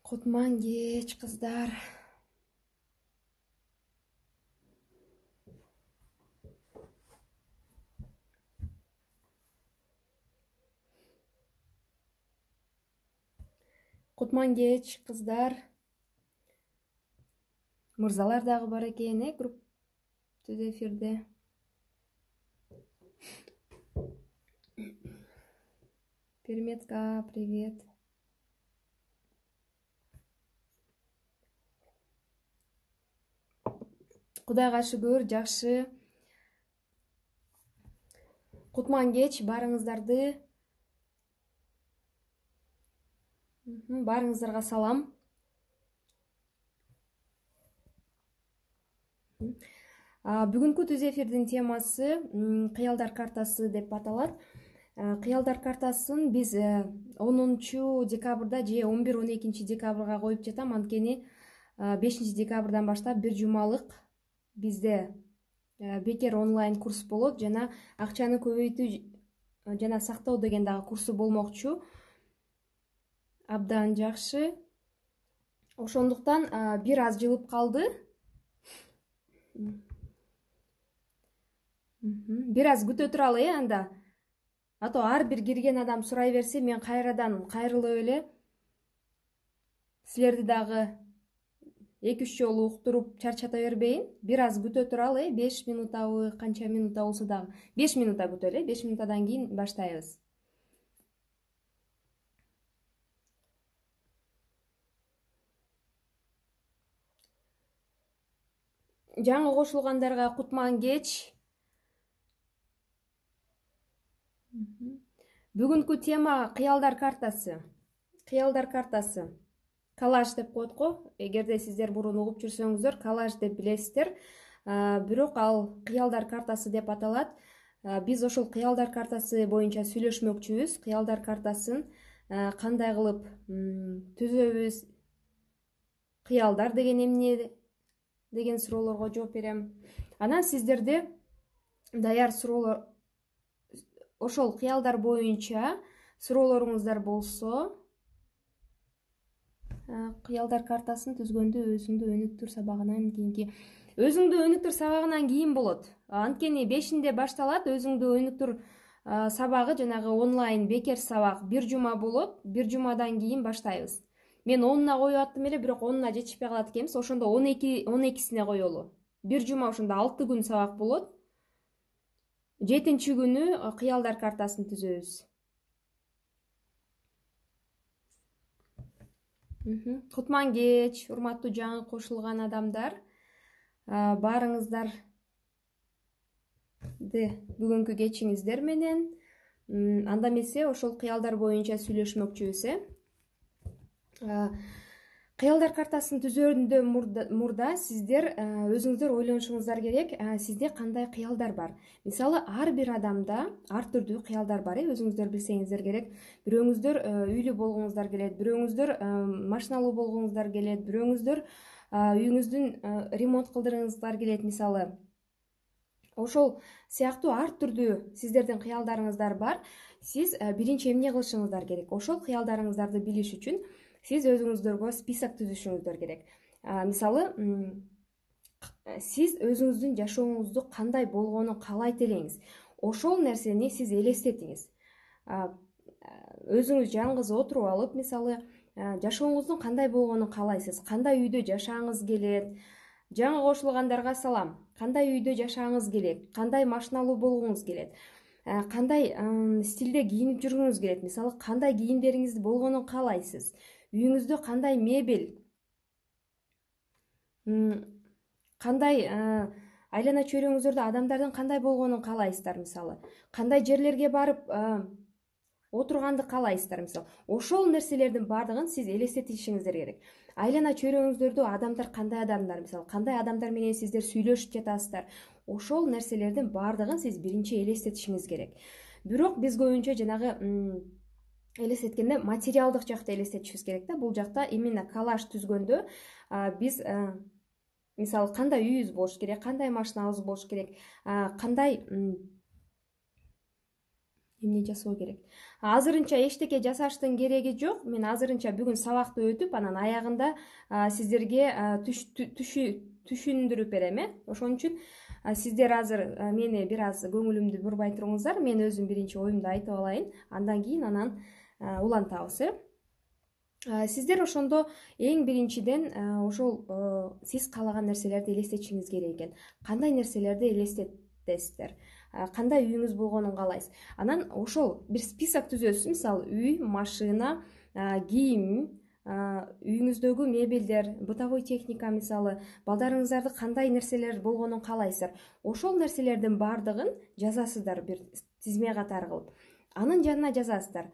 Кутман кеч, кыздар. Кутман кеч, кыздар. Мырзалар дагы бар экен, түз эфирде. Перметка, привет. Кудайга шүгүр, жакшы. Кутман кеч, барыңыздарга салам. Бүгүнкү түз эфирдин темасы кыялдар картасы деп аталат. Кыялдар картасын биз 10-декабрда же 11-12 декабрга коюп жатам, анткени 5-декабрдан баштап бир жумалык бизде бекер онлайн курс болот жана акчаны көбөйтүү жана сактоо деген дагы курсу болмокчу. Абдан жакшы. Ошондуктан бир аз жылып калды. Бир аз күтө туралы, анда. Ато ар бир кирген адам сурай берсе, мен кайрадан кайрылып эле силерди дагы 2-3 жолу уктуруп чарчата бербейин. Бир аз күтө туралы, 5 минутабы, канча минута болсо дагы. 5 минута күтөлү, 5 минутадан кийин баштайбыз. Жаңы кошулгандарга кутман кеч. Бүгүнкү тема кыялдар картасы. Кыялдар картасы. Коллаж деп коет го. Эгерде сиздер мурун угуп жүрсөңүздөр, коллаж деп билесиздер. Бирок ал кыялдар картасы деп аталат. Биз ошол кыялдар картасы боюнча сүйлөшмөкчүбүз. Кыялдар картасын кандай кылып түзөбүз? Кыялдар деген эмне деген суроолорго жооп берем. Анан сиздерде даяр суроолор, ошол кыялдар боюнча суроолоруңуздар болсо, кыялдар картасын түзгөндө өзүңдү өнүктүр сабагынан кийинки. Өзүңдү өнүктүр сабагынан кийин болот. Анткени 5-inde башталат өзүңдү өнүктүр сабагы, жанагы онлайн бекер сабак 1 жума болот. 1 жумадан кийин баштайбыз. Мен 10-на коюп аттым эле, бирок 10-на жетишпей калат экенбиз. Ошондо 12-сине коелу. 1 жума ошондо 6 күн сабак болот. 7-нчи күнү кыялдар картасын түзөбүз. Кутман кеч, урматтуу жаңы кошулган адамдар. Баарыңыздарды бүгүнкү кечиңиздер менен. Анда эмесе ошол кыялдар боюнча сүйлөшмөкчүбүз, Кыялдар картасын түзөөдөн мурда сиздер өзүңүздөр ойлонушуңуздар керек, сизде кандай кыялдар бар. Мисалы, ар бир адамда ар түрдүү кыялдар бар, өзүңүздөр билсеңиздер керек. Бирөөңүздөр үйлүү болгуңуздар келет, бирөөңүздөр машиналуу болгуңуздар келет, бирөөңүздөр үйүңүздүн ремонт кылдыргыңыздар келет, мисалы. Ошол сыяктуу ар түрдүү сиздердин кыялдарыңыздар бар. Сиз биринчи эмне кылышыңыздар керек? Ошол кыялдарыңыздарды билиш үчүн сиз өзүңүздөргө список түзүшүңүздөр керек. Мисалы, сиз өзүңүздүн жашооңузду кандай болгонун каалайт элеңиз. Ошол нерсени сиз элестетиңиз. Өзүңүз жалгыз отуруп алып, мисалы, жашооңуздун кандай болгонун каалайсыз, кандай үйдө жашааңыз келет. Жаңы кошулгандарга салам. Кандай үйдө жашааңыз келет, кандай машиналуу болгуңуз келет, кандай стилде кийинип жүргүңүз келет, мисалы, кандай кийимдериңиз болгонун каалайсыз. Үйүңүздө кандай мебель, кандай айлана чөйрөңүздөрдө адамдардын кандай болгонун каалайсыздар, мисалы. Кандай жерлерге барып отурганды каалайсыздар, мисалы. Ошол нерселердин баардыгын сиз элестетишиңиздер керек. Айлана чөйрөңүздөрдө адамдар кандай адамдар, мисалы, кандай адамдар менен сиздер сүйлөшүп жатасыздар. Ошол нерселердин баардыгын сиз биринчи элестетишиңиз керек. Бирок биз көбүнчө жанагы элестеткенде материалдык жакта элестетишибиз керек да. Бул жакта именно коллаж түзгөндө биз мисалы кандай үйүбүз болуш керек, кандай машинабыз болуш керек, кандай эмне жасоо керек. Азырынча эчтеке жасаштын кереги жок. Мен азырынча бүгүн сабакты өтүп, анан аягында сиздерге түшүндүрүп берем, Ошон үчүн сиздер азыр мени бир аз көңүлүмдү бурбай туруңуздар. Мен өзүм биринчи оюмду айтып алайын, андан кийин анан улантабыз, Сиздер ошондо эң биринчиден ошол сиз каалаган нерселерди элестетишиңиз керек экен. Кандай нерселерди элестетесиздер? Кандай үйүңүз болгонун каалайсыз? Анан ошол бир список түзөсүз. Мисалы, үй, машина, кийим, үйүңүздөгү мебелдер, бытовой техника, мисалы, балдарыңыздарды кандай нерселер болгонун каалайсыздар. Ошол нерселердин баардыгын жазасыздар бир тизме катары кылып. Анын жанына жазасыздар: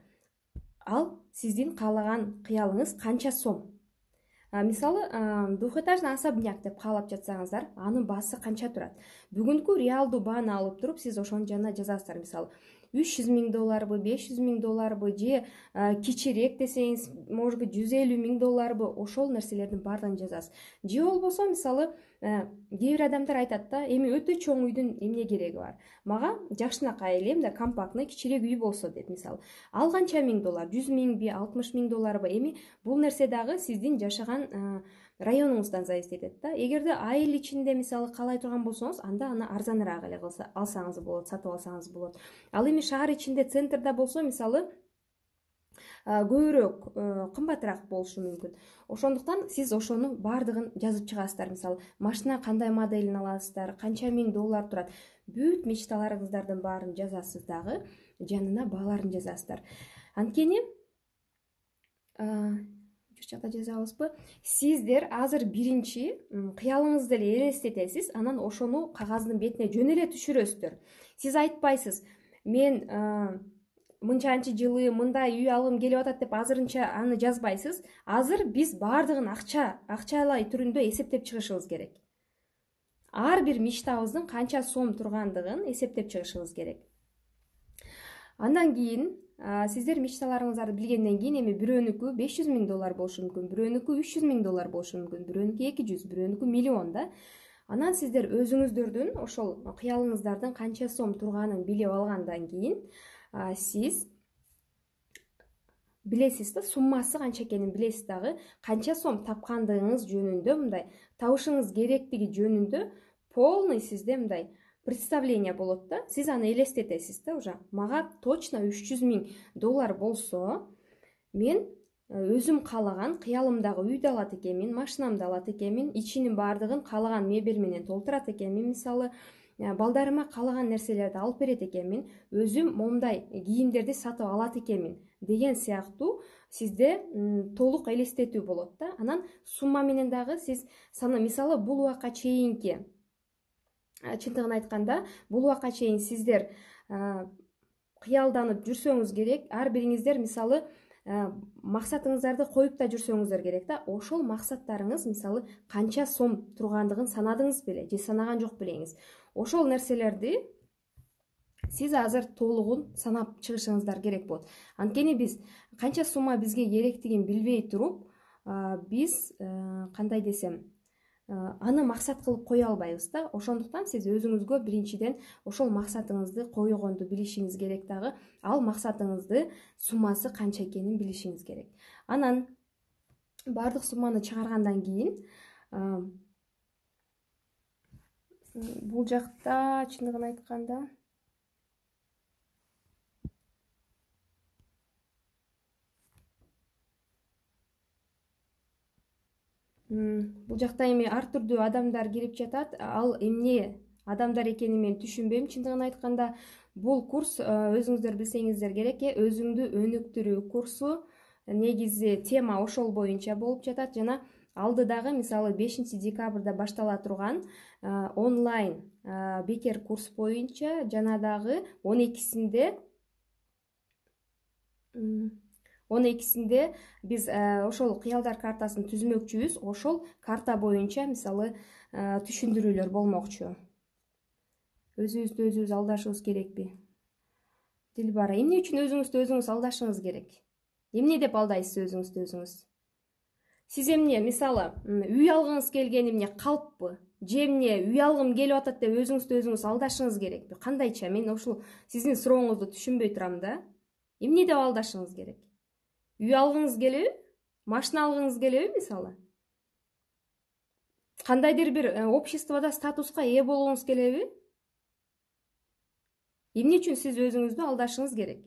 ал сиздин каалаган кыялыңыз канча сом. Мисалы, двухэтажный особняк деп каалап жатсаңыздар, анын баасы канча турат? Бүгүнкү реалдуу бааны алып туруп, сиз ошонун жанына жазасыздар. Мисалы, $300,000 $500,000 же кичирээк десеңиз, может быть, $150,000 ошол нерселердин баардыгын жазасыз. Же болбосо, мисалы, кээ бир адамдар айтат да, эми өтө чоң үйдүн эмне кереги бар? Мага жакшынакай эле мындай компактный кичирээк үй болсо деп, мисалы. Ал канча $1,000? $100,000 $60,000? Эми бул нерсе дагы сиздин жашаган районуңуздан зависит этет да. Эгерде айыл ичинде мисалы каалай турган болсоңуз, анда аны арзаныраак эле алсаңыз болот, сатып алсаңыз болот. Ал эми шаар ичинде, центрда болсо, мисалы, көбүрөөк кымбатыраак болушу мүмкүн. Ошондуктан сиз ошону баардыгын жазып чыгасыздар. Мисалы, машина кандай моделин аласыздар, канча $1,000 турат. Бүт мечталарыңыздардын баарын жазасыз дагы, жанына бааларын жазасыздар. Анткени жакта жазабызбы? Сиздер азыр биринчи кыялыңызды эле элестетесиз, анан ошону кагаздын бетине жөн эле түшүрөсүздөр. Сиз айтпайсыз: мен мынчанчы жылы мындай үй алгым келип атат деп азырынча аны жазбайсыз. Азыр биз баардыгын акчалай түрүндө эсептеп чыгышыбыз керек. Ар бир мечтабыздын канча сом тургандыгын эсептеп чыгышыбыз керек. Андан кийин сиздер мечталарыңыздарды билгенден кийин, эми бирөөнүкү $500,000 болушу мүмкүн, бирөөнүкү $300,000 болушу мүмкүн, бирөөнүкү 200, бирөөнүкү миллион да. Анан сиздер өзүңүздөрдүн ошол кыялыңыздардын канча сом турганын билип алгандан кийин, сиз билесиз да, суммасы канча экенин билесиз дагы, канча сом тапкандыгыңыз жөнүндө, мындай табышыңыз керектиги жөнүндө полный сизде мындай представление болот да. Сиз аны элестетесиз да уже. Мага точно $300,000 болсо, мен өзүм каалаган кыялымдагы үйдү алат экенмин, машинамды алат экенмин, ичинин баардыгын каалаган мебель менен толтурат экенмин, мисалы, балдарыма каалаган нерселерди алып берет экенмин, өзүм момундай кийимдерди сатып алат экенмин деген сыяктуу сизде толук элестетүү болот да. Анан сумма менен дагы сиз мисалы, бул убакка чейинки, чындыгын айтканда, бул убакка чейин сиздер кыялданып жүрсөңүз керек. Ар бириңиздер мисалы максатыңыздарды коюп да жүрсөңүздөр керек да. Ошол максаттарыңыз мисалы канча сом тургандыгын санадыңыз беле же санаган жок белеңиз. Ошол нерселерди сиз азыр толугун санап чыгышыңыздар керек болот. Анткени биз канча сумма бизге керектигин билбей туруп, биз кандай десем, аны максат кылып кое албайбыз да. Ошондуктан сиз өзүңүзгө биринчиден ошол максатыңызды койгонду билишиңиз керек дагы. Ал максатыңызды суммасы канча экенин билишиңиз керек. Анан баардык сумманы чыгаргандан кийин, бул жакта чындыгын айтканда бул жакта эми ар түрдүү адамдар кирип жатат. Ал эмне адамдар экенин мен түшүнбөйм. Чындыгын айтканда, бул курс өзүңүздөр билсеңиздер керек, өзүңдү өнүктүрүү курсу. Негизи тема ошол боюнча болуп жатат. Жана алдыдагы, мисалы, 5 декабрда баштала турган онлайн бекер курс боюнча жана дагы 12-синде биз ошол кыялдар картасын түзмөкчүбүз. Ошол карта боюнча, мисалы, түшүндүрүүлөр болмокчу. Өзүбүздү өзүбүз алдашыбыз керекпи? Дилбара, эмне үчүн өзүңүздү өзүңүз алдашыңыз керек? Эмне деп алдайсыз өзүңүздү өзүңүз? Сиз эмне, мисалы, үй алгыңыз келген эмне, калппы? же эмне үй алгым келип атат деп өзүңүздү өзүңүз алдашыңыз керекпи? Кандайча? Мен ушул сиздин сурооңузду түшүнбөй турам да. Эмне деп алдашыңыз керек? Үй алгыңыз келеби? Машина алгыңыз келеби мисалы? Кандайдыр бир обществодо статуска ээ болгуңуз келеби? Эмне үчүн сиз өзүңүздү алдашыңыз керек?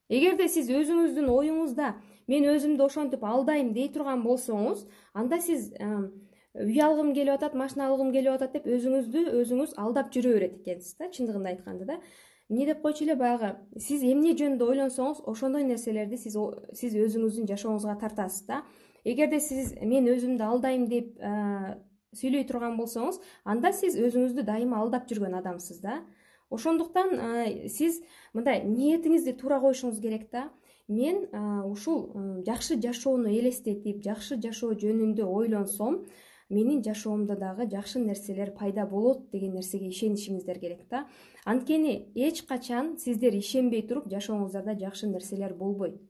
Эгерде сиз өзүңүздүн оюңузда мен өзүмдү ошентип алдайм дей турган болсоңуз, анда сиз үй алгым келип атат, машина алгым келип атат деп өзүңүздү өзүңүз алдап жүрө берет экенсиз да, чындыгында айтканда да. Эмне деп койчу эле баягы, сиз эмне жөнүндө ойлонсоңуз, ошондой нерселерди сиз өзүңүздүн жашооңузга тартасыз да. Эгерде сиз мен өзүмдү алдайм деп сүйлөй турган болсоңуз, анда сиз өзүңүздү дайыма алдап жүргөн адамсыз да. Ошондуктан сиз мындай ниетиңизди туура коюшуңуз керек да. Мен ушул жакшы жашоону элестетип, жакшы жашоо жөнүндө ойлонсом, менин жашоомдо дагы жакшы нерселер пайда болот деген нерсеге ишенишиңиздер керек да. Анткени эч качан сиздер ишенбей туруп жашооңуздарда жакшы нерселер болбойт.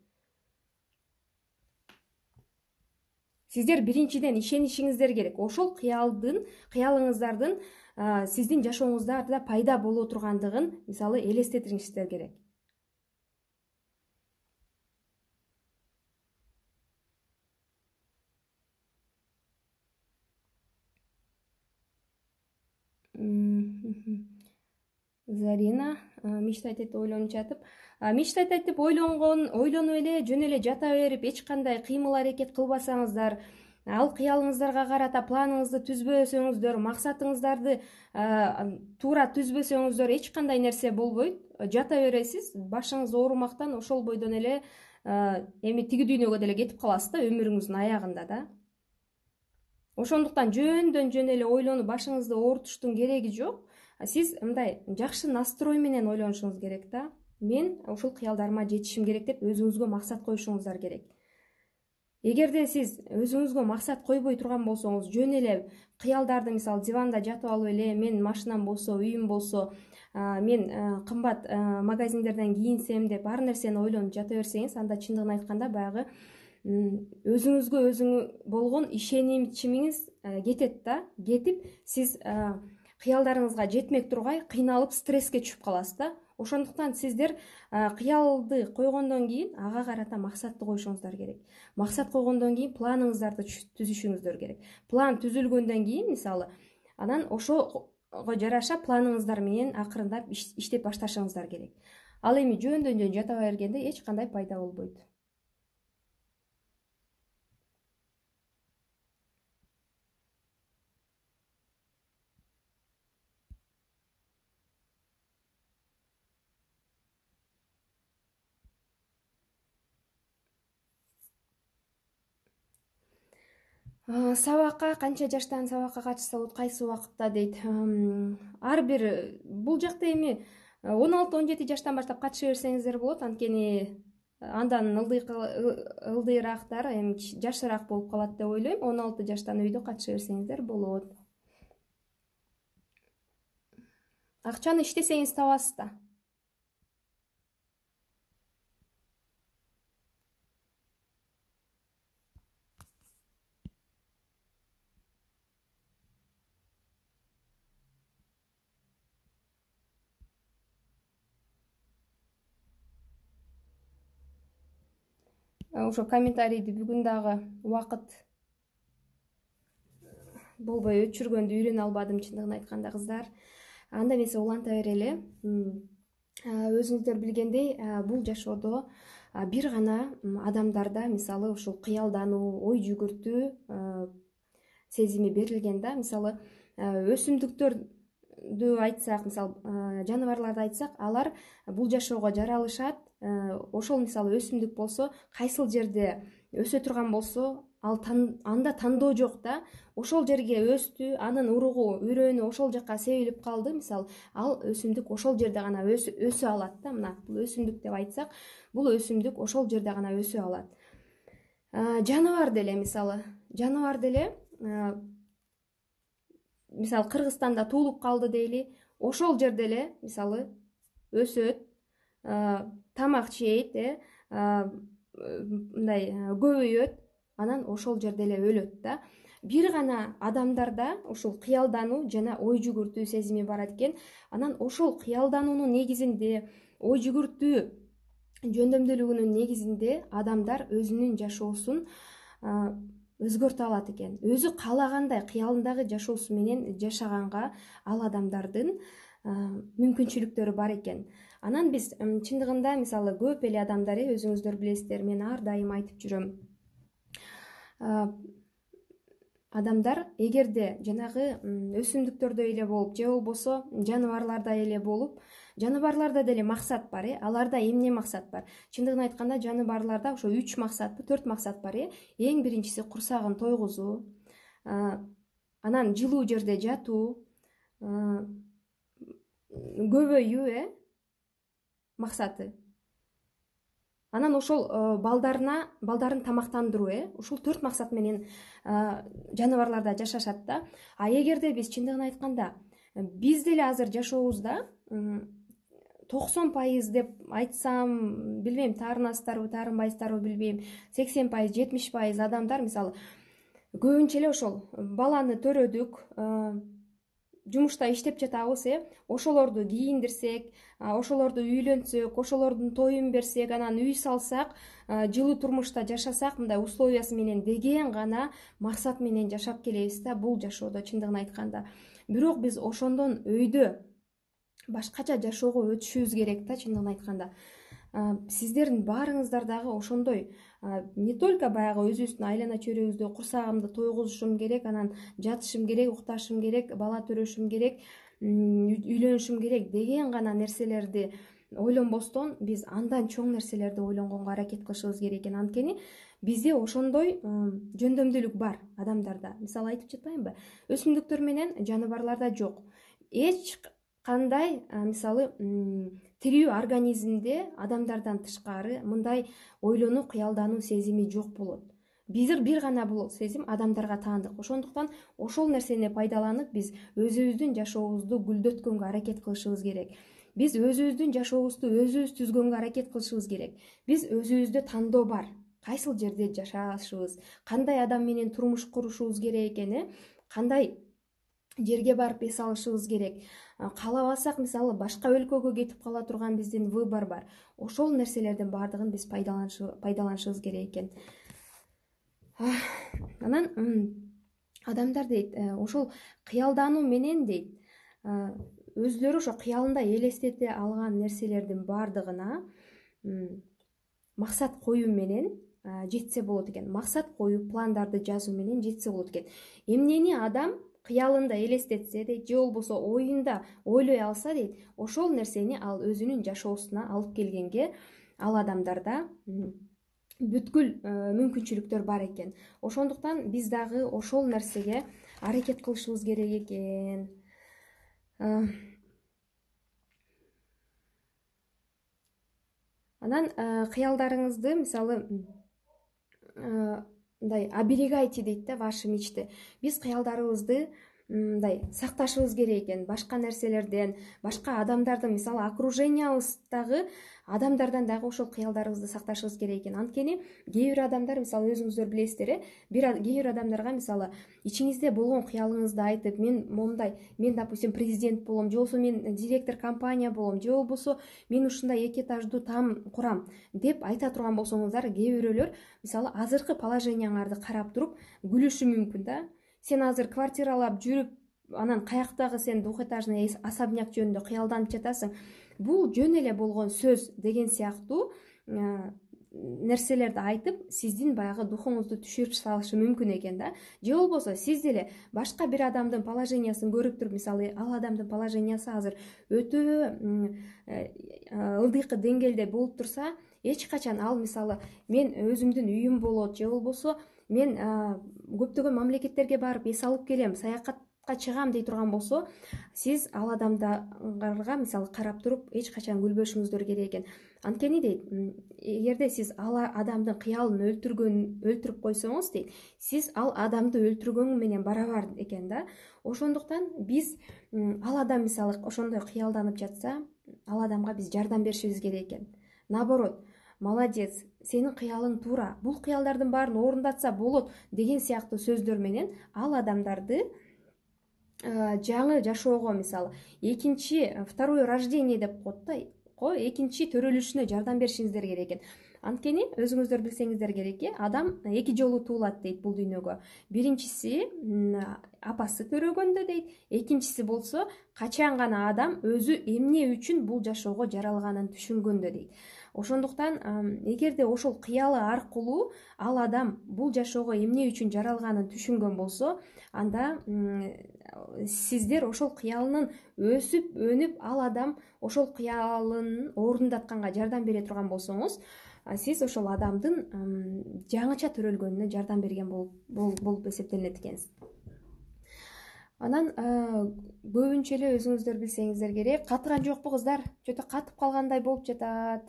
Сиздер биринчиден ишенишиңиздер керек. Ошол кыялыңыздардын сиздин жашооңуздарда пайда боло тургандыгын мисалы элестетиңиздер керек. Зарина мечтать деп ойлонуп жатып, мечтать деп ойлонуп эле жөн эле жата берип, эч кандай кыймыл аракет кылбасаңыздар, ал кыялыңыздарга карата планыңызды түзбөсөңүздөр, максатыңыздарды туура түзбөсөңүздөр эч кандай нерсе болбойт. Жата бересиз, башыңыз оорумактан ошол бойдон эле эми тиги дүйнөгө деле кетип каласыз да, өмүрүңүздүн аягында да. Ошондуктан жөн эле ойлонуп башыңызды оорутуштун кереги жок. Сиз мындай жакшы настрой менен ойлонушуңуз керек да. Мен ушул кыялдарыма жетишим керек деп өзүңүзгө максат коюшуңуздар керек. Эгерде сиз өзүңүзгө максат койбой турган болсоңуз, жөн эле кыялдарды мисалы диванда жатып алып эле мен машинам болсо, үйүм болсо, мен кымбат магазиндерден кийинсем деп ар нерсени ойлонуп жата берсеңиз, анда чындыгын айтканда баягы өзүңүзгө болгон ишенимиңиз кетет да. Кетип сиз кыялдарыңызга жетмек тургай кыйналып стресске түшүп каласыз да. Ошондуктан сиздер кыялды койгондон кийин ага карата максатты коюшуңуздар керек. Максат койгондон кийин планыңыздарды түзүшүңүздөр керек. План түзүлгөндөн кийин мисалы анан ошого жараша планыңыздар менен акырындап иштеп башташыңыздар керек. Ал эми жөн жата бергенде эч кандай пайда болбойт. Сабакка канча жаштан сабакка катышса болот, кайсы убакытта дейт. Ар бир бул жакта эми 16-17 жаштан баштап катыша берсеңиздер болот. Анткени андан ылдыйраактар эми жашыраак болуп калат деп ойлойм. 16 жаштан үйдө катыша берсеңиздер болот. Акчаны иштесеңиз табасыз да. Ошо комментарийди бүгүн дагы убакыт болбой өчүргөндү үйрөнө албадым чындыгын айтканда кыздар. Анда эмесе уланта берели. Өзүңүздөр билгендей, бул жашоодо бир гана адамдарда мисалы ушул кыялдануу, ой жүгүртүү сезими берилген да. Мисалы өсүмдүктөрдү айтсак, мисалы жаныбарларды айтсак, алар бул жашоого жаралышат. Ошол мисалы өсүмдүк болсо, кайсыл жерде өсө турган болсо, анда тандоо жок да. Ошол жерге өстү, анын уругу, үрөөнү ошол жака себилип калды. Мисалы, ал өсүмдүк ошол жерде гана өсө алат да. Мына, бул өсүмдүк деп айтсак, бул өсүмдүк ошол жерде гана өсө алат. Жаныбар деле мисалы, мисалы Кыргызстанда туулуп калды дейли, ошол жерде эле мисалы өсөт, тамак жейт, мындай көбөйөт, анан ошол жерде эле өлөт да. бир гана адамдарда ушул кыялдануу жана ой жүгүртүү сезими бар экен. Анан ошол кыялдануунун негизинде, ой жүгүртүү жөндөмдүүлүгүнүн негизинде адамдар өзүнүн жашоосун өзгөртө алат экен. Өзү каалагандай кыялындагы жашоосу менен жашаганга ал адамдардын мүмкүнчүлүктөрү бар экен. Анан биз чындыгында мисалы көп эле адамдар, өзүңүздөр билесиздер, мен ар дайым айтып жүрөм. Адамдар эгерде жанагы өсүмдүктөрдөй эле болуп, же болбосо жаныбарлардай эле болуп, жаныбарларда деле максат бар, аларда эмне максат бар? Чындыгын айтканда жаныбарларда ошо 3 максатпы, 4 максат бар. Эң биринчиси курсагын тойгузуу, анан жылуу жерде жатуу, көбөйүү максаты. Анан ошол балдарын тамактандыруу, ушул 4 максат менен жаныбарларда жашашат да. А эгерде биз чындыгын айтканда биз деле азыр жашообузда 90% деп айтсам, билбейм, таарынасыздарбы, таарынбайсыздарбы билбейм, 80%, 70% адамдар мисалы көбүнчө эле ошол баланы төрөдүк, жумушта иштеп жатабыз, ошолорду кийиндирсек, ошолорду үйлөнсөк, ошолордун тоюн берсек, анан үй салсак, жылуу турмушта жашасак, мындай условиясы менен деген гана максат менен жашап келебиз да бул жашоодо чындыгын айтканда. Бирок биз ошондон өйдө башкача жашоого өтүшүбүз керек да чындыгын айтканда. Сиздердин баарыңыздар дагы ошондой, не только баягы өзүбүздүн айлана чөйрөгүздө курсагымды тойгузушум керек, анан жатышым керек, укташым керек, бала төрөшүм керек, үйлөнүшүм керек деген гана нерселерди ойлонбостон биз андан чоң нерселерди ойлонгонго аракет кылышыбыз керек экен. Анткени бизде ошондой жөндөмдүүлүк бар адамдарда. Мисалы айтып жатпаймынбы? Өсүмдүктөр менен жаныбарларда жок. Эч кандай мисалы тирүү организмде адамдардан тышкары мындай ойлонуу, кыялдануу сезими жок болот. Бир гана бул сезим адамдарга таандык. Ошондуктан ошол нерсени пайдаланып биз өзүбүздүн жашообузду гүлдөткөнгө аракет кылышыбыз керек. Биз өзүбүздүн жашообузду өзүбүз түзгөнгө аракет кылышыбыз керек. Биз өзүбүздө тандоо бар. Кайсыл жерде жашашыбыз, кандай адам менен турмуш курушубуз керек экен, кандай жерге барып эс алышыбыз керек. Каалабасак, мисалы башка өлкөгө кетип кала турган биздин выбор бар. Ошол нерселердин баардыгын биз пайдаланышыбыз керек экен. Анан адамдар дейт, ошол кыялдануу менен дейт, өзүлөрү ошо кыялында элестете алган нерселердин баардыгына максат коюу менен жетсе болот экен. Максат коюу, пландарды жазуу менен жетсе болот экен. Эмнени адам кыялында элестетсе дейт, же болбосо оюнда ойлой алса дейт, ошол нерсени ал өзүнүн жашоосуна алып келгенге ал адамдарда бүткүл мүмкүнчүлүктөр бар экен. Ошондуктан биз дагы ошол нерсеге аракет кылышыбыз керек экен. Анан кыялдарыңызды мисалы мындай оберегайте дейт да ваши мечты. Биз кыялдарыбызды мындай сакташыбыз керек экен, башка нерселерден, башка адамдардын, мисалы окружениябыздагы адамдардан дагы ошол кыялдарыбызды сакташыбыз керек экен. Анткени кээ бир адамдар, мисалы өзүңүздөр билесиздер, кээ бир адамдарга мисалы ичиңизде болгон кыялыңызды айтып, мен момундай, мен допустим президент болом, же болбосо мен директор компания болом, же болбосо мен ушундай 2 этаждуу там курам деп айта турган болсоңуздар, кээ бирөөлөр мисалы азыркы положенияңарды карап туруп күлүшү мүмкүн да. Сен азыр квартиралап жүрүп, анан каяктагы сен двухэтажный особняк жөнүндө кыялданып жатасың. Бул жөн эле болгон сөз деген сыяктуу нерселерди айтып, сиздин баягы духуңузду түшүрүп салышы мүмкүн экен да. Же болбосо сиз деле башка бир адамдын положениясын көрүп туруп, мисалы ал адамдын положениясы азыр өтө ылдыйкы деңгээлде болуп турса, эч качан ал мисалы мен өзүмдүн үйүм болот, же болбосо мен көптөгөн мамлекеттерге барып эс алып келем, саякатка чыгам дей турган болсо, сиз ал адамдарга мисалы карап туруп эч качан күлбөшүңүздөр керек экен. Анткени дейт, эгерде сиз ал адамдын кыялын өлтүрүп койсоңуз дейт, сиз ал адамды өлтүргөн менен барабар экен да. Ошондуктан биз ал адам мисалы ошондой кыялданып жатса, ал адамга биз жардам беришибиз керек экен. Наоборот, молодец, сенин кыялың туура, бул кыялдардын баарын орундатса болот деген сыяктуу сөздөр менен ал адамдарды жаңы жашоого, мисалы второе рождение деп коет да, экинчи төрөлүшүнө жардам беришиңиздер керек экен. Анткени өзүңүздөр билсеңиздер керек, адам 2 жолу туулат дейт бул дүйнөгө. Биринчиси апасы төрөгөндө дейт, экинчиси болсо качан гана адам өзү эмне үчүн бул жашоого жаралганын түшүнгөндө дейт. Ошондуктан эгерде ошол кыялы аркылуу ал адам бул жашоого эмне үчүн жаралганын түшүнгөн болсо, анда сиздер ошол кыялынын өсүп өнүп ал адам ошол кыялын орундатканга жардам бере турган болсоңуз, сиз ошол адамдын жаңыча төрөлгөнүнө жардам берген болуп эсептелинет экенсиз. Анан көбүнчө эле өзүңүздөр билсеңиздер керек, катыган жокпу кыздар? Чөтө катып калгандай болуп жатат.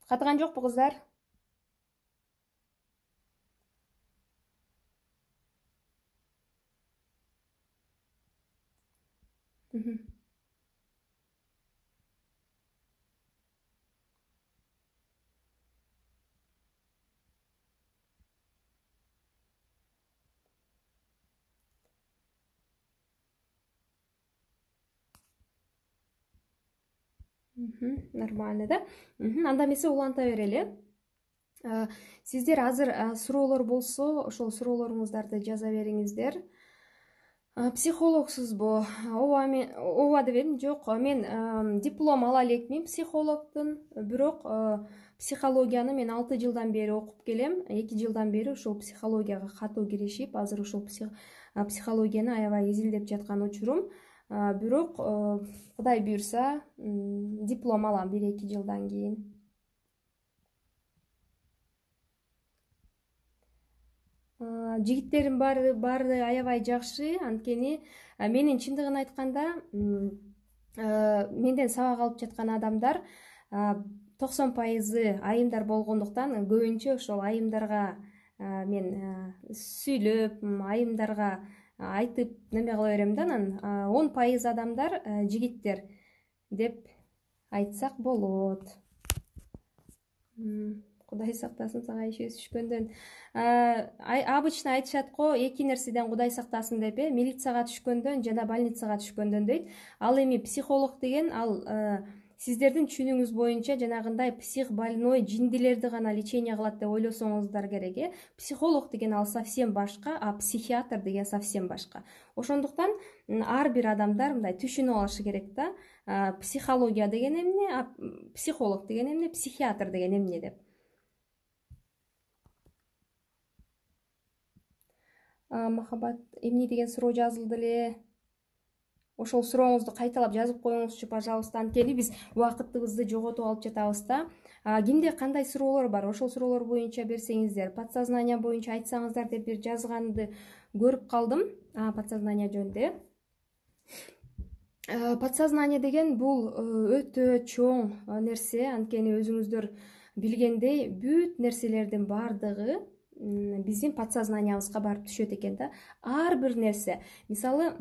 Катыган жокпу кыздар? Нормально да. Анда эмесе уланта берели. Сиздер азыр суроолор болсо, ошол суроолоруңуздарды жаза бериңиздер. Психологсузбу? Ооба деп едим. Жок, мен диплом ала элекмин психологдун, бирок психологияны мен 6 жылдан бери окуп келем. 2 жылдан бери ушул психологияга катуу киришип, азыр ушул психологияны аябай изилдеп жаткан учурум. Бирок Кудай буйрса, диплом алам 1-2 жылдан кийин. Жигиттердин баары аябай жакшы, анткени менин чындыгын айтканда менден сабак алып жаткан адамдар 90% айымдар болгондуктан көбүнчө ошол айымдарга мен сүйлөп, айымдарга айтып неме кыла берем да, анан 10% адамдар жигиттер деп айтсак болот. Кудай сактасын сага иш түшкөндөн. Обычно айтышат го, 2 нерседен Кудай сактасын деп, милицияга түшкөндөн жана больницага түшкөндөн дейт. Ал эми психолог деген ал сиздердин түшүнүгүңүз боюнча жанагындай психбольной жиндилерди гана лечение кылат деп ойлосоңуздар керек. Психолог деген ал совсем башка, а психиатр деген совсем башка. Ошондуктан ар бир адамдар мындай түшүнүп алышы керек да, психология деген эмне, а психолог деген эмне, психиатр деген эмне деп. Махабат эмне деген суроо жазылды эле. Ошол сурооңузду кайталап жазып коюңузчу, пожалуйста. Анткени биз убакытыбызды жоготуп алып жатабыз да. Кимде кандай суроолор бар, ошол суроолор боюнча берсеңиздер, подсознание боюнча айтсаңыздар деп бир жазганды көрүп калдым. Подсознание жөнүндө. Подсознание деген бул өтө чоң нерсе, анткени өзүңүздөр билгендей, бүт нерселердин баардыгы биздин подсознаниябызга барып түшөт экен да. Ар бир нерсе, мисалы,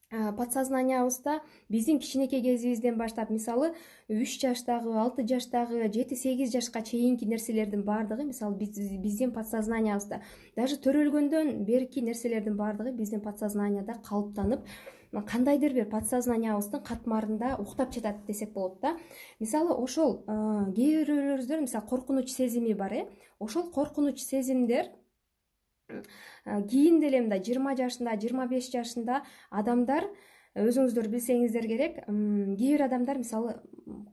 подсознаниябызда биздин кичинекей кезибизден баштап, мисалы 3 жаштагы, 6 жаштагы, 7-8 жашка чейинки нерселердин баардыгы, мисалы биздин подсознаниябызда, даже төрөлгөндөн берки нерселердин баардыгы биздин подсознанияда калыптанып, кандайдыр бир подсознаниябыздын катмарында уктап жатат десек болот да. Мисалы ошол кээ бирөөңүздөр, мисалы коркунуч сезими бар, ошол коркунуч сезимдер кийин деле мындай 20 жашында, 25 жашында адамдар, өзүңүздөр билсеңиздер керек, кээ бир адамдар мисалы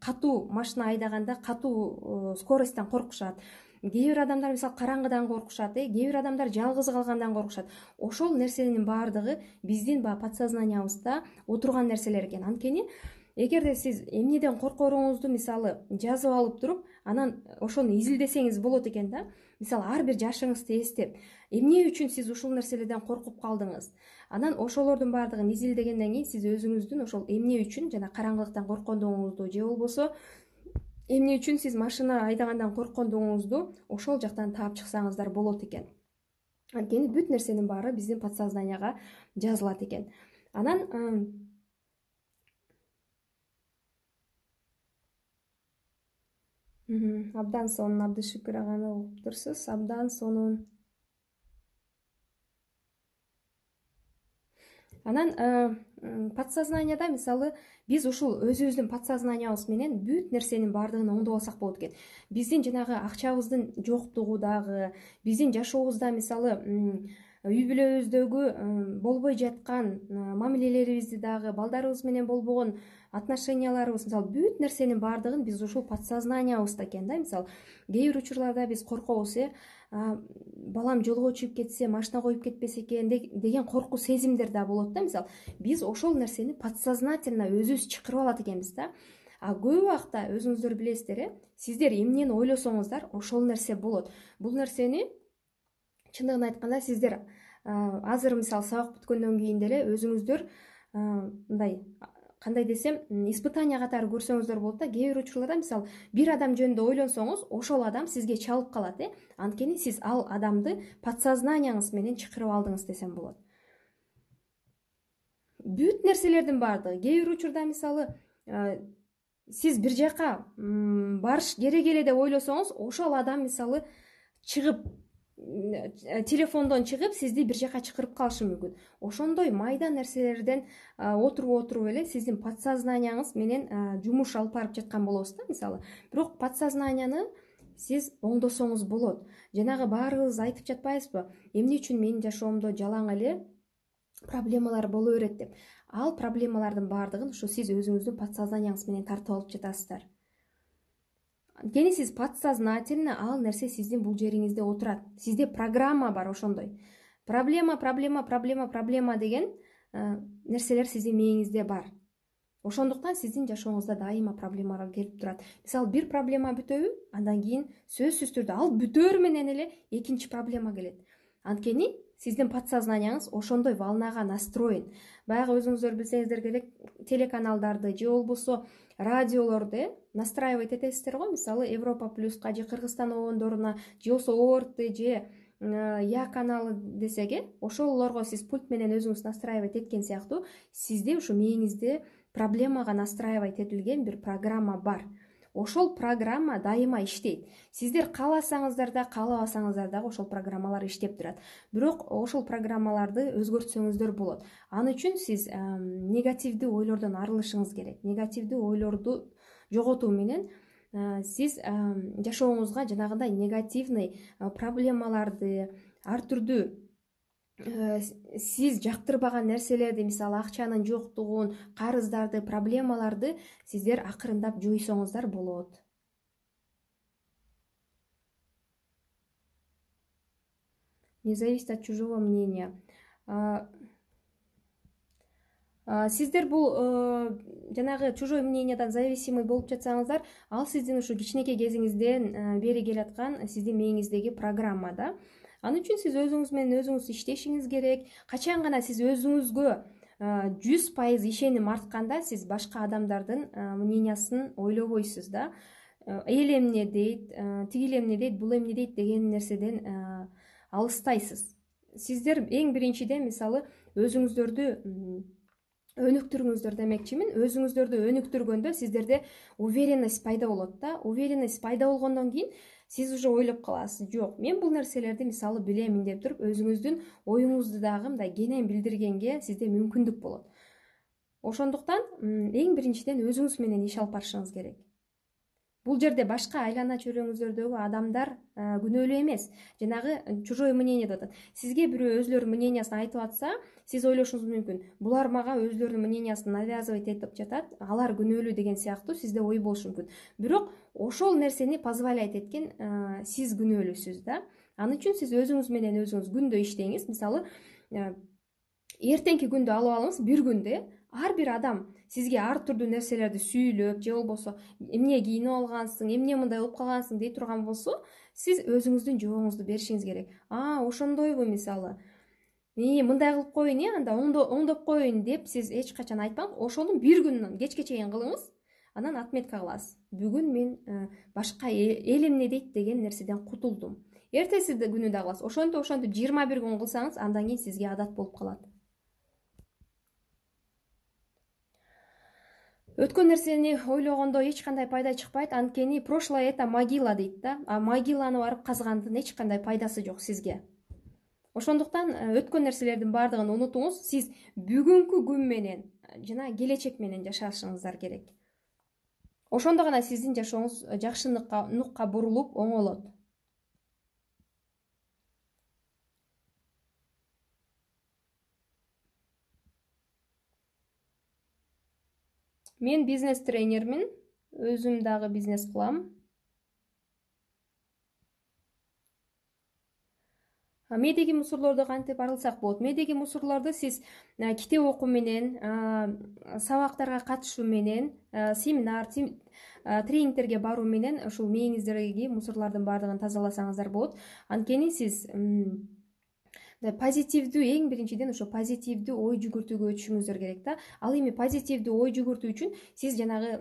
катуу машина айдаганда катуу скоросттан коркушат. Кээ бир адамдар мисалы караңгыдан коркушат, кээ бир адамдар жалгыз калгандан коркушат. Ошол нерсенин баардыгы биздин подсознаниябызда отурган нерселер экен. Анткени эгерде сиз эмнеден коркоруңузду мисалы жазып алып туруп, анан ошону изилдесеңиз болот экен да. Мисалы ар бир жашыңызды эстеп, эмне үчүн сиз ушул нерселерден коркуп калдыңыз? Анан ошолордун баардыгын изилдегенден кийин сиз өзүңүздүн ошол эмне үчүн жана караңгылыктан корккондугуңузду же болбосо эмне үчүн сиз машина айдагандан корккондугуңузду ошол жактан таап чыксаңыздар болот экен. Анткени бүт нерсенин баары биздин подсознанияга жазылат экен. Анан абдан сонун Абдышүкүр аганы угуп турсуз. Абдан сонун. Анан подсознанияда мисалы биз ушул өзүбүздүн подсознаниябыз менен бүт нерсенин баардыгын оңдоп алсак болот экен. Биздин жанагы акчабыздын жоктугу дагы, биздин жашообузда мисалы үй бүлөбүздөгү болбой жаткан мамилелерибизди дагы, балдарыбыз менен болбогон отношенияларыбыз, мисалы бүт нерсенин баардыгын биз ушул подсознаниябызда экен да. Мисалы кээ бир учурларда биз коркобуз, балам жолго чыгып кетсе, машина коюп кетпесе экен деген коркуу сезимдер да болот да. Мисалы биз ошол нерсени подсознательно өзүбүз чакырып алат экенбиз да. А көп убакта өзүңүздөр билесиздер, сиздер эмнени ойлосоңуздар, ошол нерсе болот. Бул нерсени чындыгын айтканда сиздер азыр мисалы сабак бүткөндөн кийин деле өзүңүздөр мындай кандай десем, испытание катары көрсөңүздөр болот да. Кээ бир учурларда мисалы бир адам жөнүндө ойлонсоңуз, ошол адам сизге чалып калат, анткени сиз ал адамды подсознанияңыз менен чакырып алдыңыз десем болот. Бүт нерселердин баардыгы, кээ бир учурда мисалы сиз бир жака барыш керек эле деп ойлосоңуз, ошол адам мисалы чыгып телефондон чыгып сизди бир жака чакырып калышы мүмкүн. Ошондой майда нерселерден отуруп эле сиздин подсознанияңыз менен жумуш алып барып жаткан болобуз да мисалы. Бирок подсознанияны сиз оңдосоңуз болот. Жанагы баарыбыз айтып жатпайбызбы? Эмне үчүн менин жашоомдо жалаң эле проблемалар боло берет деп. Ал проблемалардын баардыгын ушу сиз өзүңүздүн подсознанияңыз менен тартып алып жатасыздар. Анткени сиз подсознательно ал нерсе сиздин бул жериңизде отурат. Сизде программа бар ошондой. Проблема деген нерселер сиздин мээңизде бар. Ошондуктан сиздин жашооңузда дайыма проблемалар келип турат. Мисалы бир проблема бүтөбү, андан кийин сөзсүз түрдө ал бүтөөр менен эле экинчи проблема келет. Анткени сиздин подсознанияңыз ошондой волнага настроен. Баягы өзүңүздөр билсеңиздер керек, телеканалдарды же болбосо радиолорду настраивать этесиздер го. Мисалы Европа плюска же Кыргызстан обондоруна же болбосо ОРТ же Я каналы десек, ошолорго сиз пульт менен өзүңүз настраивать эткен сыяктуу сизде ушу мээңизде проблемага настраивать этилген бир программа бар. Ошол программа дайыма иштейт. Сиздер кааласаңыздар да, каалабасаңыздар дагы ошол программалар иштеп турат. Бирок ошол программаларды өзгөртсөңүздөр болот. Аны үчүн сиз негативдүү ойлордон арылышыңыз керек. Негативдүү ойлорду жоготуу менен сиз жашооңузга жанагындай негативный проблемаларды, ар түрдүү сиз жактырбаган нерселерди, мисалы акчанын жоктугун, карыздарды, проблемаларды сиздер акырындап жойсоңуздар болот. Не зависит от чужого мнения. Сиздер бул жанагы чужой мнениядан зависимый болуп жатсаңыздар, ал сиздин ушу кичинекей кезиңизден бери келаткан сиздин мээңиздеги программа да. Аны үчүн сиз өзүңүз менен өзүңүз иштешиңиз керек. Качан гана сиз өзүңүзгө 100% ишеним артканда, сиз башка адамдардын мнениясын ойлобойсуз да. Эл эмне дейт, тигил эмне дейт, бул эмне дейт деген нерседен алыстайсыз. Сиздер эң биринчиден мисалы өзүңүздөрдү өнүктүрүңүздөр демекчимин. Өзүңүздөрдү өнүктүргөндө сиздерде уверенность пайда болот да. Уверенность пайда болгондон кийин сиз уже ойлоп каласыз, жок, мен бул нерселерди мисалы билемин деп туруп, өзүңүздүн оюңузду дагы мындай кенен билдиргенге сизде мүмкүндүк болот. Ошондуктан эң биринчиден өзүңүз менен иш алып барышыңыз керек. Бул жерде башка айлана чөйрөңүздөрдөгү адамдар күнөөлүү эмес. Жанагы чужое мнение деп атат. Сизге бирөө өзүлөрүнүн мнениясын айтып атса, сиз ойлошуңуз мүмкүн. Булар мага өзүлөрүнүн мнениясын навязывать этип жатат, алар күнөөлүү деген сыяктуу сизде ой болушу мүмкүн. Бирок ошол нерсени позволять эткен сиз күнөөлүүсүз да. Аны үчүн сиз өзүңүз менен өзүңүз күндө иштеңиз. Мисалы, эртеңки күндү алып алыңыз, бир күндө ар бир адам сизге ар түрдүү нерселерди сүйлөп, же болбосо эмне кийинип алгансың, эмне мындай болуп калгансың дей турган болсо, сиз өзүңүздүн жообуңузду беришиңиз керек. Ошондойбу мисалы. Мындай кылып коеюн, анда оңдоп коеюн деп сиз эч качан айтпаңыз. Ошону бир күн кечке чейин кылыңыз, анан отметка кыласыз. Бүгүн мен башка эл эмне дейт деген нерседен кутулдум. эртеси күнү да кыласыз. Ошентип 21 күн кылсаңыз, андан кийин сизге адат болуп калат. Өткөн нерсени ойлогондо эч кандай пайда чыкпайт. Анткени прошлое это могила дейт да. А могиланы барып казгандын эч кандай пайдасы жок сизге. Ошондуктан өткөн нерселердин баардыгын унутуңуз. Сиз бүгүнкү күн менен жана келечек менен жашашыңыздар керек. Ошондо гана сиздин жашооңуз жакшыныкка бурулуп оңолот. Мен бизнес тренермин. Өзүм дагы бизнес кылам. Медеги мусорлорду кантип арылсак болот? Медеги мусорлорду сиз китеп окуу менен, сабактарга катышуу менен, семинар, тренингтерге баруу менен ушул мээңиздеги мусорлордун баардыгын тазаласаңыздар болот. Анткени сиз позитивдүү, эң биринчиден ошо позитивдүү ой жүгүртүүгө өтүшүңүздөр керек да. Ал эми позитивдүү ой жүгүртүү үчүн сиз жанагы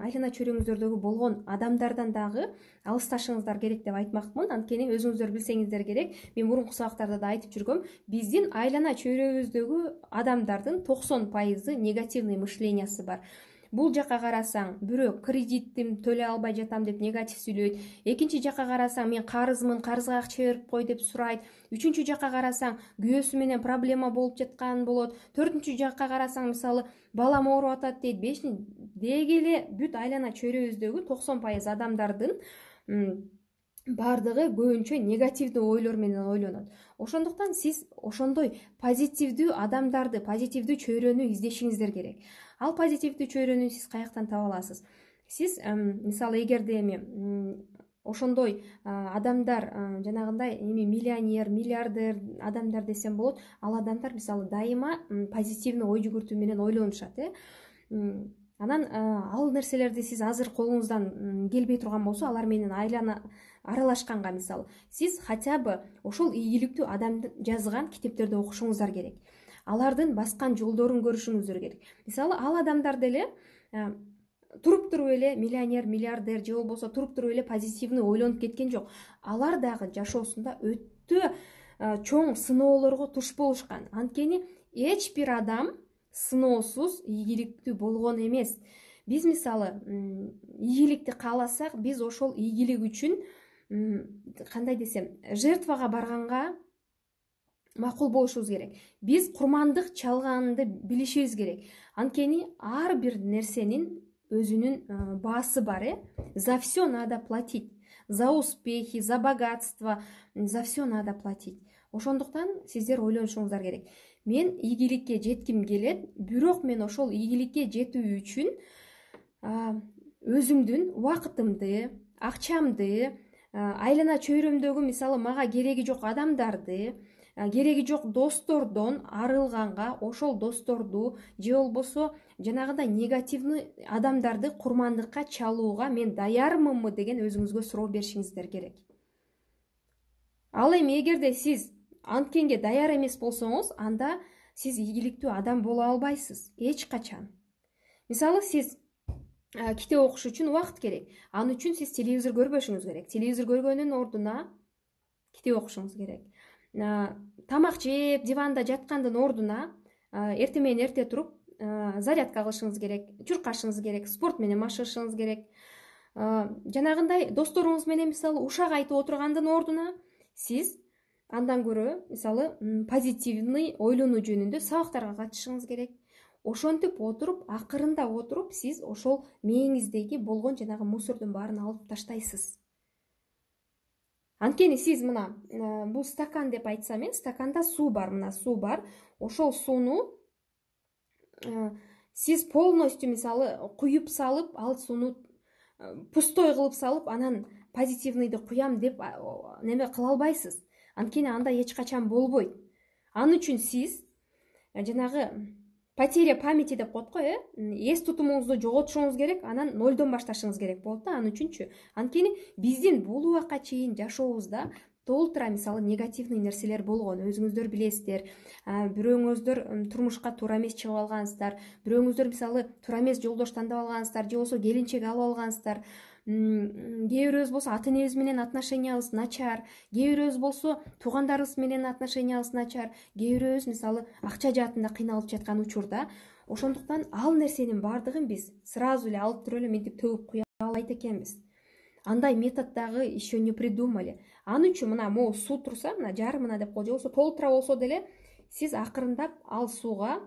айлана чөйрөңүздөрдөгү болгон адамдардан дагы алысташыңыздар керек деп айтмакмын. Анткени өзүңүздөр билсеңиздер керек, мен мурунку сабактарда да айтып жүргөм, биздин айлана чөйрөбүздөгү адамдардын 90% негативный мышлениясы бар. Бул жака карасаң, бирөө кредиттим төлөй албай жатам деп негатив сүйлөйт. Экинчи жака карасаң, мен карызмын, карызга акча берип кой деп сурайт. Үчүнчү жака карасаң, күйөөсү менен проблема болуп жаткан болот. Төртүнчү жака карасаң, мисалы, балам ооруп атат дейт. Бешинчи деги эле бүт айлана чөйрөбүздөгү 90% адамдардын баардыгы көбүнчө негативдүү ойлор менен ойлонот. Ошондуктан сиз ошондой позитивдүү адамдарды, позитивдүү чөйрөнү издешиңиздер керек. Ал позитивдүү чөйрөнү сиз каяктан таба аласыз? Сиз мисалы эгерде эми ошондой адамдар жанагындай миллионер, миллиардер адамдар десем болот, ал адамдар мисалы дайыма позитивный ой жүгүртүү менен ойлонушат, Анан ал нерселерди сиз азыр колуңуздан келбей турган болсо, алар менен аралашканга мисалы, сиз хотя бы ошол ийгиликтүү адамдын жазган китептерди окушуңуздар керек. Алардын баскан жолдорун көрүшүңүздөр керек. Мисалы, ал адамдар деле туруп туруп эле миллионер, миллиардер же болбосо туруп туруп эле позитивный ойлонуп кеткен жок. Алар дагы жашоосунда өтө чоң сыноолорго туш болушкан. Анткени эч бир адам сыноосуз ийгиликтүү болгон эмес. Биз мисалы ийгиликти кааласак, биз ошол ийгилик үчүн кандай десем, жертвага барганга макул болушубуз керек. Биз курмандык чалганды билишибиз керек. Анткени ар бир нерсенин өзүнүн баасы бар, За все надо платить. За успехи, за богатство, за все надо платить. Ошондуктан сиздер ойлонушуңуздар керек. Мен ийгиликке жетким келет, бирок мен ошол ийгиликке жетүү үчүн өзүмдүн убакытымды, акчамды, айлана чөйрөмдөгү мисалы мага кереги жок адамдарды, кереги жок достордон арылганга, ошол досторду же болбосо жанагындай негативный адамдарды курмандыкка чалууга мен даярмынбы деген өзүңүзгө суроо беришиңиздер керек. Ал эми эгерде сиз анткенге даяр эмес болсоңуз, анда сиз ийгиликтүү адам боло албайсыз эч качан. Мисалы, сиз китеп окуш үчүн убакыт керек. Аны үчүн сиз телевизор көрбөшүңүз керек. Телевизор көргөндүн ордуна китеп окушуңуз керек. Тамак жеп, диванда жаткандын ордуна эртең менен эрте туруп зарядка кылышыңыз керек, чуркашыңыз керек, спорт менен машыгышыңыз керек. Жанагындай досторуңуз менен мисалы ушак айтып отургандын ордуна сиз андан көрө мисалы позитивный ойлонуу жөнүндө сабактарга катышыңыз керек. Ошентип отуруп, акырында отуруп, сиз ошол мээңиздеги болгон жанагы мусордун баарын алып таштайсыз. Анткени сиз мына бул стакан деп айтсам, стаканда суу бар, мына суу бар. Ошол сууну сиз полностью мисалы куюп салып, ал сууну пустой кылып салып, анан позитивныйды куям деп неме кыла албайсыз. Анткени анда эч качан болбойт. Ал үчүн сиз жанагы потеря памяти деп коет го, эс тутумуңузду жоготушуңуз керек, анан нолдон башташыңыз керек болот да, аны үчүнчү. Анткени биздин бул убакка чейин жашообузда толтура мисалы негативный нерселер болгон, өзүңүздөр билесиздер. Бирөөңүздөр турмушка туура эмес чыгып алгансыздар, бирөөңүздөр мисалы туура эмес жолдош тандап алгансыздар, же болбосо келинчек алып алгансыздар. кээ бирөөбүз болсо ата энебиз менен отношениябыз начар, кээ бирөөбүз болсо туугандарыбыз менен отношениябыз начар, кээ бирөөбүз мисалы акча жаатында кыйналып жаткан учурда. Ошондуктан ал нерсенин баардыгын биз сразу эле алып туруп эле мынтип төгүп куя албайт экенбиз. Андай метод дагы еще не придумали. Аны үчүн мына могу суу турса, мына жарымына деп коелу, же болбосо толтура болсо деле сиз акырындап ал сууга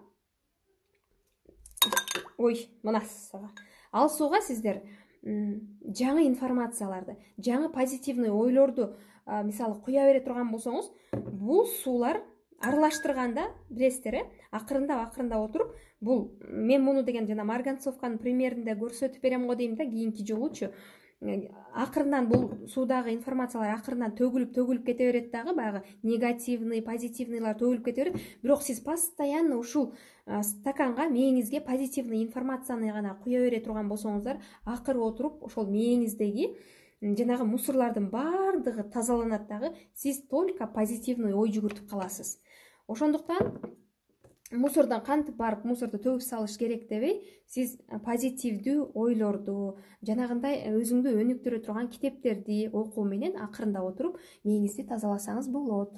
ал сууга сиздер жаңы информацияларды, жаңы позитивный ойлорду мисалы куя бере турган болсоңуз, бул суулар аралаштырганда билесиздер, акырындап отуруп, бул мен муну деген жана марганцовканын примеринде көрсөтүп берем го дейм да, кийинки жолучу. Акырындан бул суудагы информациялар акырындан төгүлүп кете берет дагы, баягы негативный, позитивныйлар төгүлүп кете берет. Бирок сиз постоянно ушул стаканга, мээңизге позитивный информацияны гана куя бере турган болсоңуздар, акыры отуруп ошол мээңиздеги жанагы мусорлордун баардыгы тазаланат дагы, сиз только позитивный ой жүгүртүп каласыз. Ошондуктан мусордон кантип барып мусорду төгүп салыш керек дебей, сиз позитивдүү ойлорду, жанагындай өзүңдү өнүктүрө турган китептерди окуу менен акырындап отуруп мээңизди тазаласаңыз болот.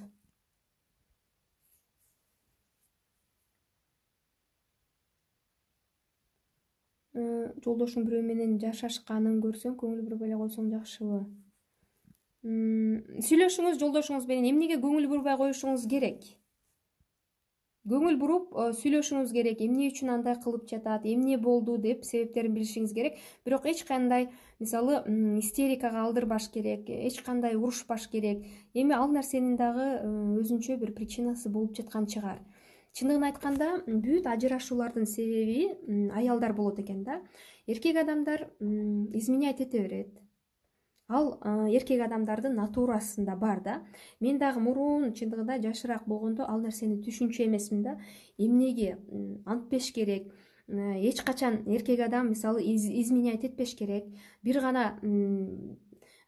Жолдошуң бирөө менен жашашканын көрсөң, көңүл бурбай эле койсоң жакшыбы? Сүйлөшүңүз жолдошуңуз менен, эмнеге көңүл бурбай коюшуңуз керек? Көңүл буруп сүйлөшүңүз керек, эмне үчүн андай кылып жатат, эмне болду деп себептерин билишиңиз керек. Бирок эч кандай мисалы истерикага алдырбаш керек, эч кандай урушпаш керек. Эми ал нерсенин дагы өзүнчө бир причинасы болуп жаткан чыгар. Чындыгын айтканда, бүт ажырашуулардын себеби аялдар болот экен да. Эркек адамдар изменять эте берет. Ал эркек адамдардын натурасында бар да. Мен дагы мурун чындыгында жашыраак болгондо ал нерсени түшүнчү эмесмин да. Эмнеге антпеш керек? Эч качан эркек адам мисалы изменять этпеш керек. Бир гана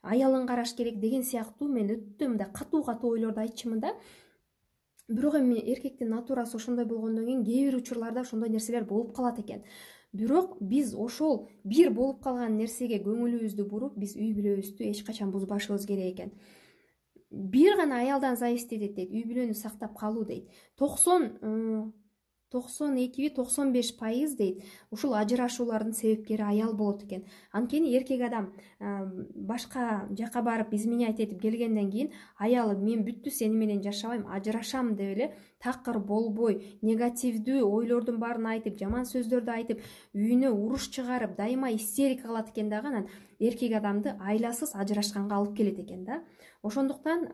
аялын караш керек деген сыяктуу мен өтө мындай катуу ойлорду айтчумун да. Бирок эми эркектин натурасы ошондой болгондон кийин кээ бир учурларда ошондой нерселер болуп калат экен. Бирок биз ошол бир болуп калган нерсеге көңүлүбүздү буруп, биз үй бүлөбүздү эч качан бузбашыбыз керек экен. Бир гана аялдан зависеть этет дейт, үй бүлөнү сактап калуу дейт. 92-95% дейт, ушул ажырашуулардын себепкери аял болот экен. Анткени эркек адам башка жака барып изменять этип келгенден кийин аялы мен бүттү сени менен жашабайм, ажырашам деп эле такыр болбой, негативдүү ойлордун баарын айтып, жаман сөздөрдү айтып, үйүнө уруш чыгарып, дайыма истерика кылат экен дагы, анан эркек адамды айласыз ажырашканга алып келет экен да. Ошондуктан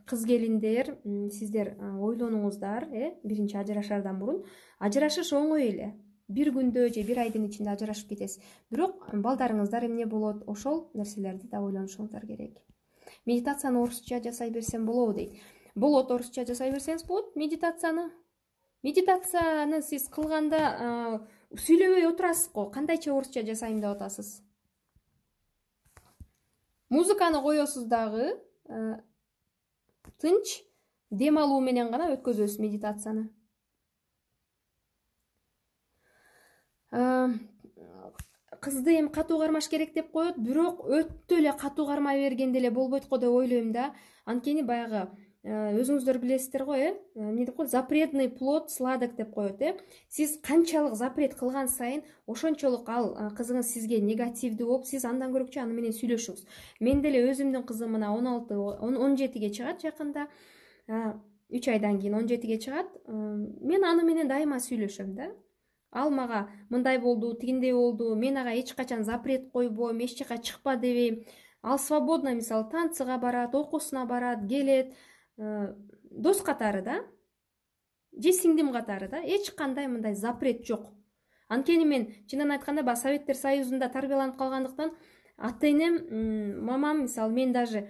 кыз келиндер, сиздер ойлонуңуздар, биринчи ажырашаардан мурун. Ажырашыш оңой эле. Бир күндө же бир айдын ичинде ажырашып кетесиз. Бирок балдарыңыздар эмне болот, ошол нерселерди да ойлонушуңуздар керек. Медитацияны орусча жасай берсем болобу дейт. Болот, орусча жасай берсеңиз болот медитацияны. Медитацияны сиз кылганда сүйлөбөй отурасыз го, кандайча орусча жасайм деп атасыз. Музыканы коесуз дагы, тынч дем алуу менен гана өткөзөсүз медитацияны. Кызды эми катуу кармаш керек деп коет, бирок өтө эле катуу кармай бергенде эле болбойт го деп ойлойм да. Анткени баягы өзүңүздөр билесиздер го, эмне деп коет, запретный плод сладок деп коет, Сиз канчалык запрет кылган сайын, ошончолук ал кызыңыз сизге негативдүү болуп, сиз андан көрөкчү аны менен сүйлөшүңүз. Мен деле өзүмдүн кызым мына 17-ге чыгат жакында. 3 айдан кийин 17-ге чыгат. Мен аны менен дайыма сүйлөшөм да. Ал мага мындай болду, тигиндей болду, мен ага эч качан запрет койбойм, эч жака чыкпа дебейм. Ал свободно мисалы танцыга барат, окуусуна барат, келет, дос катары да, же сиңдим катары да, эч кандай мындай запрет жок. Анткени мен чынын айтканда баягы Советтер Союзунда тарбияланып калгандыктан ата энем, мамам мисалы мен даже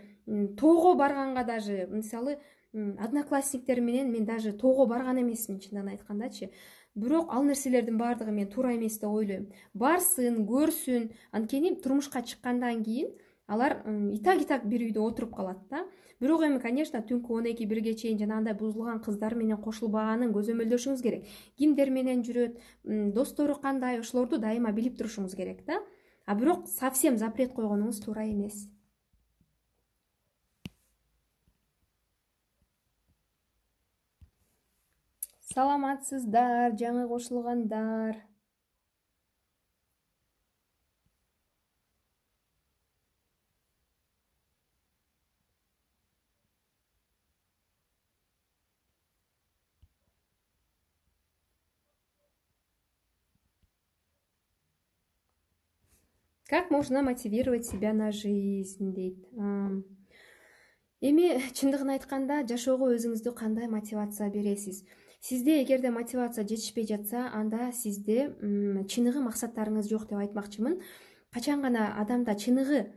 тоого барганга даже мисалы одноклассниктер менен мен даже тоого барган эмесмин чынын айткандачы. Бирок ал нерселердин баардыгы мен туура эмес деп ойлойм. Барсын, көрсүн. Анткени турмушка чыккандан кийин алар итак бир үйдө отуруп калат да. Бирок эми, конечно, түнкү 12-1ге чейин жанагындай бузулган кыздар менен кошулбаганын көзөмөлдөшүңүз керек. Кимдер менен жүрөт, достору кандай, ошолорду дайыма билип турушуңуз керек да. а бирок совсем запрет койгонуңуз туура эмес. Саламатсыздар, жаңы кошулгандар. Как можно мотивировать себя на жизнь дейт. Эми чындыгын айтканда жашоого өзүңүздү кандай мотивация бересиз? Сизде эгерде мотивация жетишпей жатса, анда сизде чыныгы максаттарыңыз жок деп айтмакчымын. Качан гана адамда чыныгы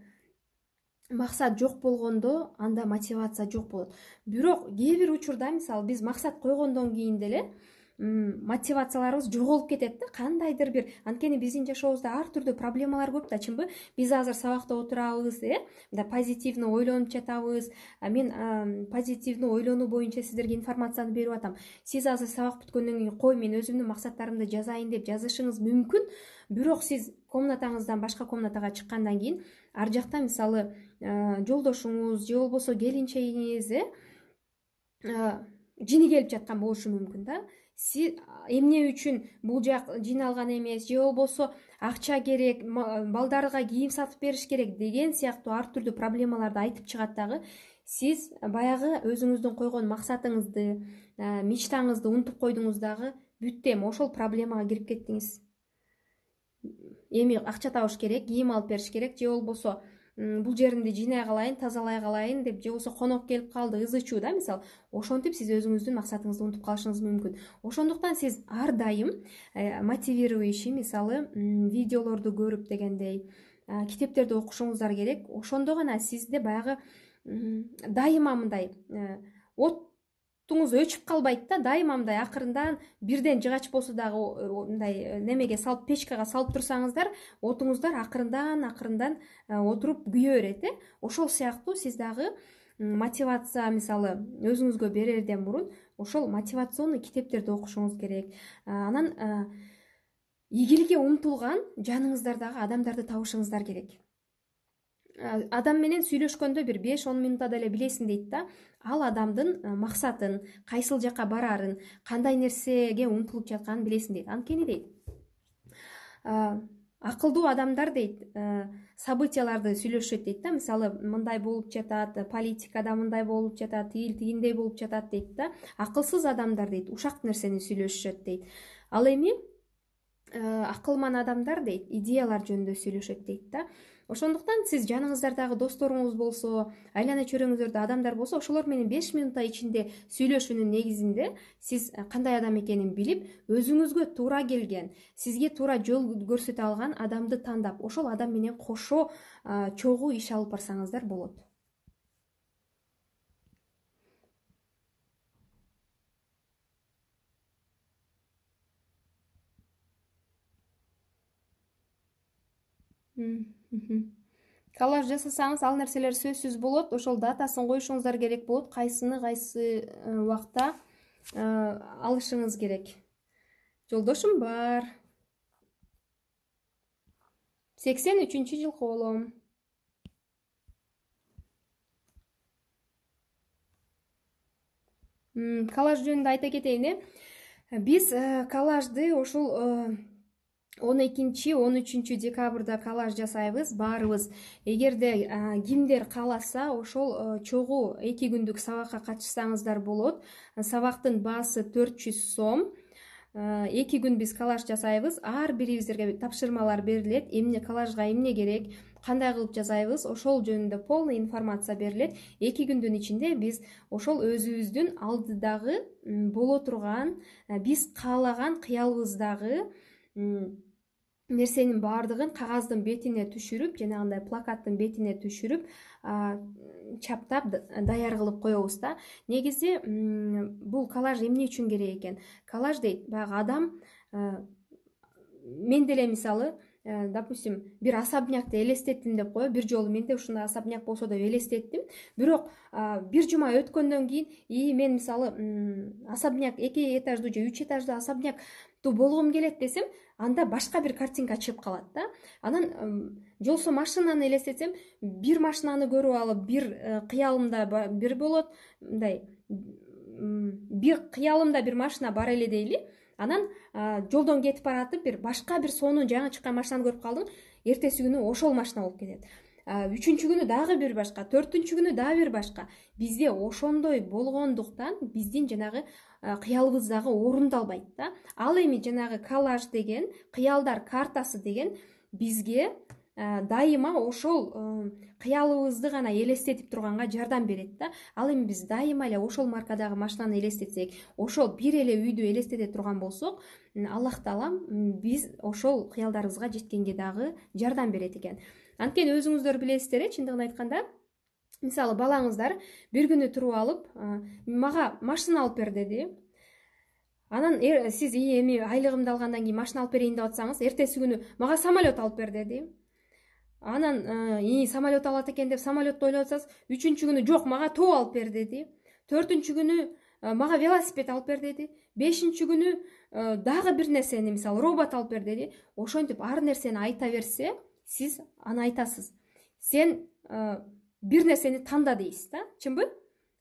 максат жок болгондо, анда мотивация жок болот. Бирок кээ бир учурда, мисалы, биз максат койгондон кийин деле мотивацияларыбыз жоголуп кетет да, кандайдыр бир. Анткени биздин жашообузда ар түрдүү проблемалар көп да, чынбы? Биз азыр сабакта отурабыз, мындай позитивный ойлонуп жатабыз. Мен позитивный ойлонуу боюнча сиздерге информацияны берип атам. Сиз азыр сабак бүткөндөн кийин кой, мен өзүмдүн максаттарымды жазайын деп жазышыңыз мүмкүн. Бирок сиз комнатаңыздан башка комнатага чыккандан кийин ар жакта, мисалы, жолдошуңуз же болбосо келинчегиңиз жини келип жаткан болушу мүмкүн да. Сиз эмне үчүн бул жак жиналган эмес, же болбосо акча керек, балдарга кийим сатып бериш керек деген сыяктуу ар түрдүү проблемаларды айтып чыгат дагы. Сиз баягы өзүңүздүн койгон максатыңызды, мечтаңызды унутуп койдуңуз дагы, бүттү, эми ошол проблемага кирип кеттиңиз. Эми акча табыш керек, кийим алып бериш керек, же болбосо бул жеримди жинай калайын, тазалай калайын деп, же болбосо конок келип калды, ызы-чуу да, мисалы. Ошентип сиз өзүңүздүн максатыңызды унутуп калышыңыз мүмкүн. Ошондуктан сиз ар дайым мотивирующий, мисалы, видеолорду көрүп дегендей, китептерди окушуңуздар керек. Ошондо гана сизде баягы дайыма мындай оттуңуз өчүп калбайт да, дайыма мындай акырындан бирден жыгач болсо дагы мындай немеге салып, печкага салып турсаңыздар, отуңуздар акырындан отуруп күйө берет. Ошол сыяктуу сиз дагы мотивация, мисалы, өзүңүзгө берерден мурун ошол мотивационный китептерди окушуңуз керек. Анан ийгиликке умтулган жаныңыздардагы адамдарды табышыңыздар керек. Адам менен сүйлөшкөндө бир 5-10 минутта эле билесиң дейт да, ал адамдын максатын, кайсыл жака барарын, кандай нерсеге умтулуп жатканын билесиң дейт. Анткени дейт, акылдуу адамдар дейт, событияларды сүйлөшөт дейт да. Мисалы, мындай болуп жатат, политикада мындай болуп жатат, тигиндей болуп жатат дейт да. Акылсыз адамдар дейт, ушак нерсени сүйлөшөт дейт. Ал эми акылман адамдар дейт, идеялар жөнүндө сүйлөшөт дейт да. Ошондуктан сиз жаныңыздардагы досторуңуз болсо, айлана чөйрөңүздөрдө адамдар болсо, ошолор менен 5 минутта ичинде сүйлөшүүнүн негизинде сиз кандай адам экенин билип, өзүңүзгө туура келген, сизге туура жол көрсөтө алган адамды тандап, ошол адам менен кошо чогуу иш алып барсаңыздар болот. Коллаж жасасаңыз, ал нерселер сөзсүз болот. Ошол датасын коюшуңуздар керек болот. Кайсыны кайсы убакта алышыңыз керек. Жолдошум бар. 83-жылкы болом. Коллаж жөнүндө айта кетейин. Биз коллажды ошол 12-13 декабрда коллаж жасайбыз, баарыбыз. Эгерде кимдер кааласа, ошол чогуу 2 күндүк сабакка катышсаңыздар болот. Сабактын баасы 400 сом. 2 күн биз коллаж жасайбыз. Ар бирибиздерге тапшырмалар берилет. Эмне коллажга эмне керек, кандай кылып жасайбыз, ошол жөнүндө полный информация берилет. 2 күндүн ичинде биз ошол өзүбүздүн алдыдагы боло турган, биз каалаган кыялыбыздагы нерсенин баардыгын кагаздын бетине түшүрүп, жанагындай плакаттын бетине түшүрүп, чаптап даяр кылып коебуз да. Негизи бул коллаж эмне үчүн керек экен? Коллаж дейт, баягы адам, мен деле мисалы допустим, бир особнякты элестеттим деп коебу. Бир жолу менде ушундай особняк болсо деп элестеттим. Бирок бир жума өткөндөн кийин мен мисалы особняк 2 этаждуу же 3 этаждуу особняктуу болгум келет десем, анда башка бир картинка чыгып калат да. Анан жолсо машинаны элестетсем, бир машинаны көрүп алып, бир кыялымда бир болот, мындай бир кыялымда бир машина бар эле дейли. Анан жолдон кетип баратып башка бир сонун жаңы чыккан машинаны көрүп калдым. Эртеси күнү ошол машина болуп кетет. Үчүнчү күнү дагы бир башка, төртүнчү күнү дагы бир башка. Бизде ошондой болгондуктан биздин жанагы кыялыбыз дагы орундалбайт да. Ал эми жанагы коллаж деген, кыялдар картасы деген бизге дайыма ошол кыялыбызды гана элестетип турганга жардам берет да. Ал эми биз дайыма эле ошол маркадагы машинаны элестетсек, ошол бир эле үйдү элестете турган болсок, Аллах таалам биз ошол кыялдарыбызга жеткенге дагы жардам берет экен. Анткени өзүңүздөр билесиздер, чындыгын айтканда, мисалы балаңыздар бир күнү туруп алып, мага машина алып бер деди. Анан сиз эми айлыгымды алгандан кийин машина алып берейин деп атсаңыз, эртеси күнү мага самолет алып бер деди. Анан самолет алат экен деп самолетту ойлоп атсаңыз, үчүнчү күнү жок, мага тоо алып бер деди. Төртүнчү күнү мага велосипед алып бер деди. Бешинчи күнү дагы бир нерсени, мисалы робот алып бер деди. Ошентип ар нерсени айта берсе, сиз аны айтасыз. Сен бир нерсени танда дейсиз да, чынбы?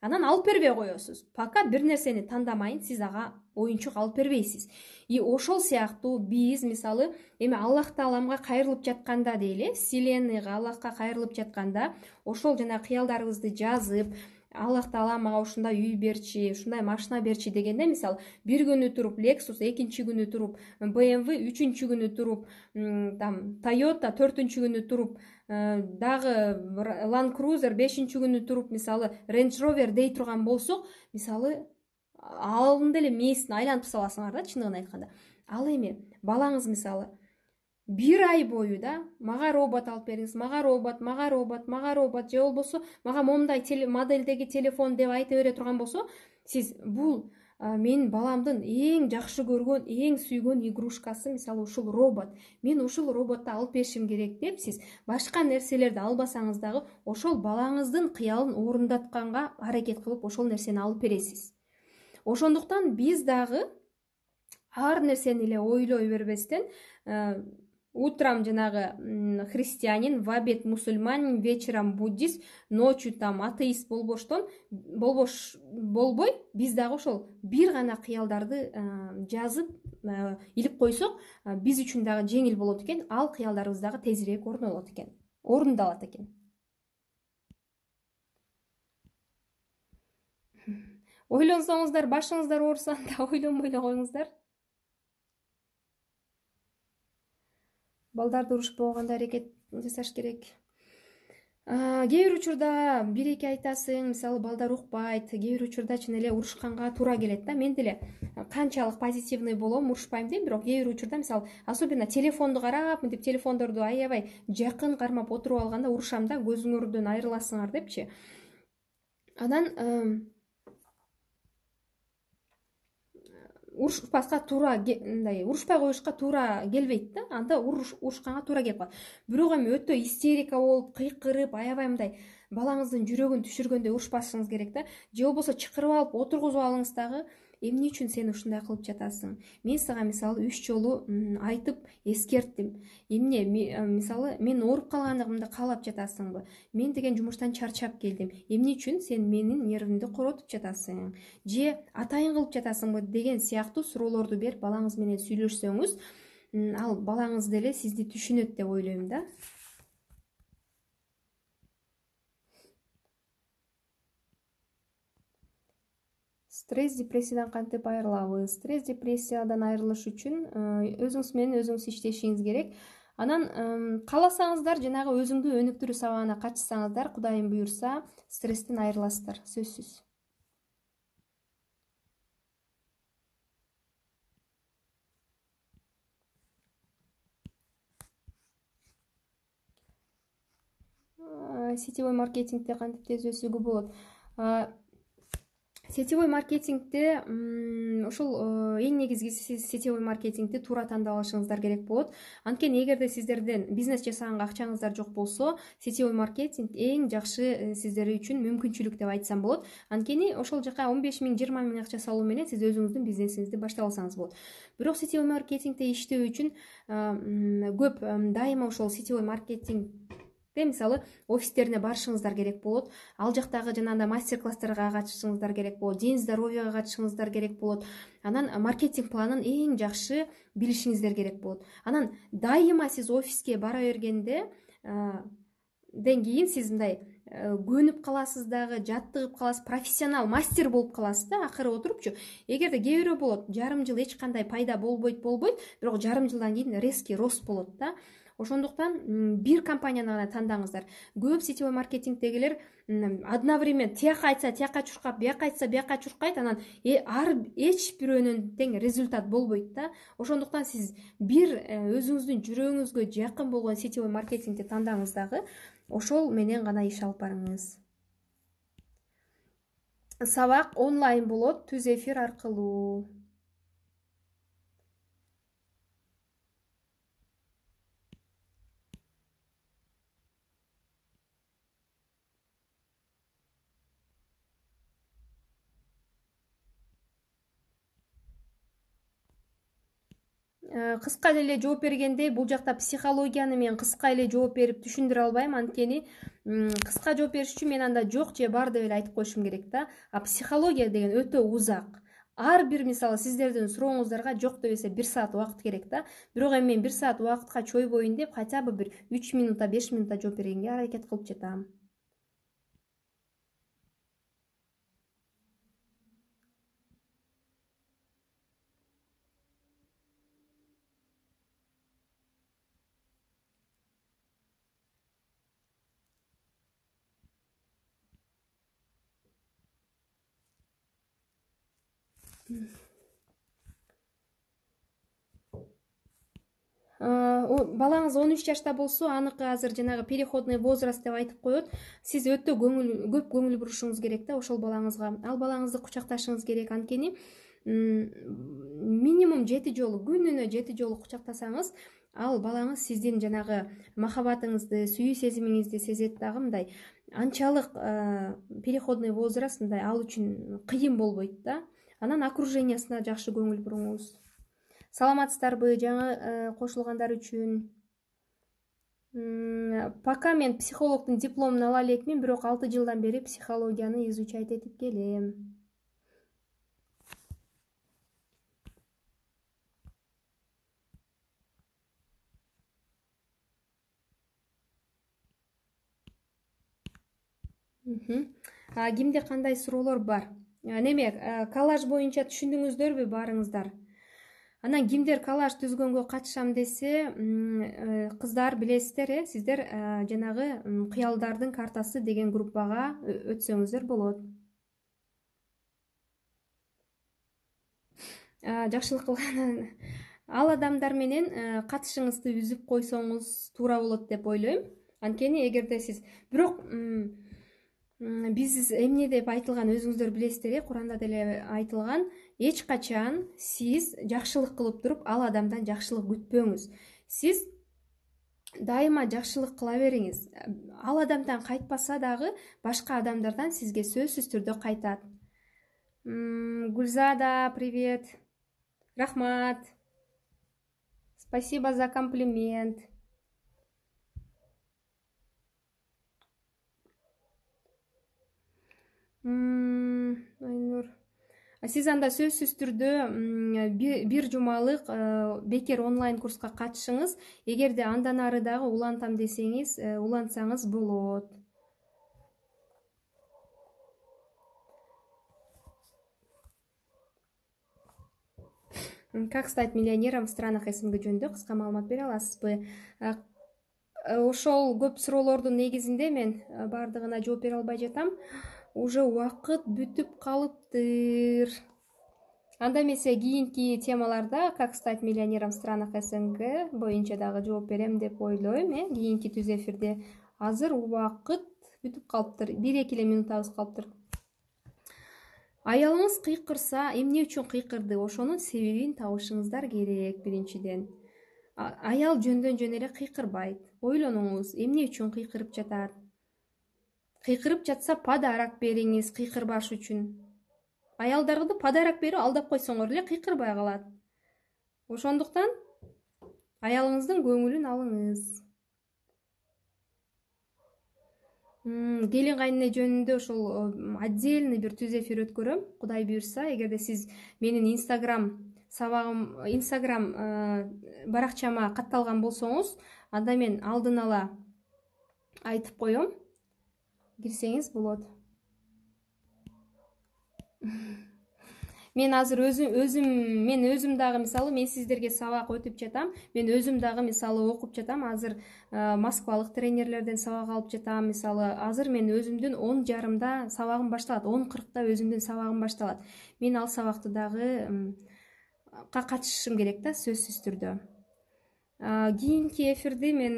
Анан алып бербей коесуз. Пока бир нерсени тандамайын, сиз ага оюнчук алып бербейсиз. И ошол сыяктуу биз мисалы эми Аллах тааламга кайрылып жатканда дейли, вселенныйга, Аллахка кайрылып жатканда, ошол жана кыялдарыбызды жазып, Аллах таала мага ушундай үй берчи, ушундай машина берчи дегенде, мисалы, бир күнү туруп Lexus, экинчи күнү туруп BMW, үчүнчү күнү туруп Toyota, төртүнчү күнү туруп дагы Land Cruiser, бешинчи күнү туруп мисалы Range Rover дей турган болсок, мисалы алында эле мээсин айлантып саласыңар да, чындыгын айтканда. Ал эми балаңыз мисалы бир ай бою да мага робот алып бериңиз, мага робот, же болбосо мага момундай модельдеги телефон деп айта бере турган болсо, сиз бул менин баламдын эң жакшы көргөн, эң сүйгөн игрушкасы, мисалы ушул робот. Мен ушул роботту алып беришим керек деп сиз башка нерселерди албасаңыз дагы ошол балаңыздын кыялын орундатканга аракет кылып ошол нерсени алып бересиз. Ошондуктан биз дагы ар нерсени эле ойлой бербестен, утром жанагы христианин, в обед мусульманин, вечером буддист, ночью атеист болбой, биз дагы ошол бир гана кыялдарды жазып илип койсок, биз үчүн дагы жеңил болот экен, ал кыялдарыбыз дагы тезирээк орундалат экен. Ойлонсоңуздар, башыңыздар ооруса, анда ойлонбой эле коюңуздар. Балдарды урушпогонго аракет жасаш керек. Кээ бир учурда бир-эки айтасың, мисалы балдар укпайт, кээ бир учурда чын эле урушканга туура келет да. Мен деле канчалык позитивный болом, урушпайм дейм, бирок кээ бир учурда мисалы особенно телефонду карап, мынтип телефондорду аябай жакын кармап отуруп алганда урушам да, көзүңөрдөн айрыласыңар депчи. Анан урушпаска туура, мындай урушпай коюшка туура келбейт да. Анда урушканга туура келип калат. Бирок эми өтө истерика болуп, кыйкырып, аябай мындай балаңыздын жүрөгүн түшүргөндөй урушпашыңыз керек да. Же болбосо чакырып алып отургузуп алыңыз дагы. Эмне үчүн сен ушундай кылып жатасың? Мен сага мисалы 3 жолу айтып эскерттим. Эмне мисалы мен ооруп калганымды каалап жатасыңбы? Мен деген жумуштан чарчап келдим. Эмне үчүн сен менин нервимди коротуп жатасың? Же атайын кылып жатасыңбы деген сыяктуу суроолорду берип балаңыз менен сүйлөшсөңүз, ал балаңыз деле сизди түшүнөт деп ойлойм да. Стресс, депрессиядан кантип айрылабыз? Стресс, депрессиядан айрылыш үчүн өзүңүз менен өзүңүз иштешиңиз керек. Анан кааласаңыздар, жанагы өзүңдү өнүктүрүү сабагына катышсаңыздар, Кудайым буюрса, стресстен айрыласыздар, сөзсүз. Сетевой маркетингде кантип тез өсүүгө болот? Сетевой маркетингде ошол эң негизгиси сетевой маркетингди туура тандап алышыңыздар керек болот. Анткени эгерде сиздерден бизнес жасаганга акчаңыздар жок болсо, сетевой маркетинг эң жакшы сиздер үчүн мүмкүнчүлүк деп айтсам болот. Анткени ошол жака 15 миң, 20 миң акча салуу менен сиз өзүңүздүн бизнесиңизди баштап алсаңыз болот. Бирок сетевой маркетингде иштөө үчүн көп дайыма ошол сетевой маркетинг мисалы офистерине барышыңыздар керек болот. Ал жактагы жанагындай мастер-класстарга катышыңыздар керек болот, день здоровьяга катышыңыздар керек болот. Анан маркетинг планын эң жакшы билишиңиздер керек болот. Анан дайыма сиз офиске бара бергенде кийин сиз мындай көнүп каласыз дагы, жаттыгып каласыз, профессионал, мастер болуп каласыз да акыры отурупчу. Эгерде кээ бирөө болот, жарым жыл эч кандай пайда болбойт, бирок жарым жылдан кийин резкий рост болот да. Ошондуктан бир компанияны гана тандаңыздар. Көп сетевой маркетингдегилер одновременно тияка айтса тияка чуркап, бияка айтса бияка чуркайт, анан эч бирөөнөн тең результат болбойт да. Ошондуктан сиз бир өзүңүздүн жүрөгүңүзгө жакын болгон сетевой маркетингди тандаңыз дагы, ошол менен гана иш алып барыңыз. Сабак онлайн болот, түз эфир аркылуу. Кыска эле жооп бергенде, бул жакта психологияны мен кыска эле жооп берип түшүндүрө албайм, анткени кыска жооп бериш үчүн мен анда жок же бар деп эле айтып коюшум керек да. А психология деген өтө узак. Ар бир мисалы сиздердин сурооңуздарга жок дебесе 1 саат убакыт керек да. Бирок эми мен 1 саат убакытка чойбоюн деп хотя бы бир 3 минутта, 5 минутта жооп бергенге аракет кылып жатам. Балаңыз 13 жашта болсо, аныкы азыр жанагы переходный возраст деп айтып коет. Сиз өтө көп көңүл бурушуңуз керек да ошол балаңызга. Ал балаңызды кучакташыңыз керек, анткени минимум 7 жолу, күнүнө 7 жолу кучактасаңыз, ал балаңыз сиздин жанагы махабатыңызды, сүйүү сезимиңизди сезет дагы. Мындай анчалык переходный возраст мындай ал үчүн кыйын болбойт да. Анан окружениясына жакшы көңүл буруңуз. Саламатсыздарбы жаңы кошулгандар үчүн? Пока мен психологдун дипломун ала элекмин, бирок 6 жылдан бери психологияны изучать этип келем. Кимде кандай суроолор бар? Неме, коллаж боюнча түшүндүңүздөрбү баарыңыздар? Анан кимдер коллаж түзгөнгө катышам десе, кыздар билесиздер, сиздер жанагы кыялдардын картасы деген группага өтсөңүздөр болот. Жакшылык кылган ал адамдар менен катышыңызды үзүп койсоңуз туура болот деп ойлойм. Анткени эгерде сиз бирок биз эмне деп айтылган өзүңүздөр билесиздер, Куранда деле айтылган, эч качан сиз жакшылык кылып туруп ал адамдан жакшылык күтпөңүз. Сиз дайыма жакшылык кыла бериңиз. Ал адамдан кайтпаса дагы башка адамдардан сизге сөзсүз түрдө кайтат. Гүлзада, привет. Рахмат. Спасибо за комплимент. Айнур. Сиз анда сөзсүз түрдө бир жумалык бекер онлайн курска катышыңыз. Эгерде андан ары дагы улантам десеңиз, улантсаңыз болот. Как стать миллионером в странах СНГ жөнүндө кыска маалымат бере аласызбы? Ошол көп суроолордун негизинде мен бардыгына жооп бере албай жатам. Уже убакыт бүтүп калыптыр. Анда эмесе кийинки темаларда как стать миллионером в странах СНГ боюнча дагы жооп берем деп ойлойм, кийинки түз эфирде. Азыр убакыт бүтүп калыптыр. 1-2 эле минутабыз калыптыр. Аялыңыз кыйкырса, эмне үчүн кыйкырды? Ошонун себебин табышыңыздар керек биринчиден. Аял жөндөн жөн эле кыйкырбайт. Ойлонуңуз, эмне үчүн кыйкырып жатат? Кыйкырып жатса, подарок бериңиз кыйкырбаш үчүн. Аялдарды подарок берип алдап койсоңор эле кыйкырбай калат. Ошондуктан аялыңыздын көңүлүн алыңыз. Келин кайнене жөнүндө ошол отдельный бир түз эфир өткөрөм, Кудай буйрса. Эгерде сиз менин Instagram баракчама катталган болсоңуз, анда мен алдын ала айтып коем, кирсеңиз болот. Мен азыр өзүм дагы мисалы, мен сиздерге сабак өтүп жатам. Мен өзүм дагы мисалы окуп жатам. Азыр Москвалык тренерлерден сабак алып жатам. Мисалы, азыр мен өзүмдүн 10:30 сабагым башталат. 10:40 өзүмдүн сабагым башталат. Мен ал сабакты дагы катышышым керек да, сөзсүз түрдө. Кийинки эфирди мен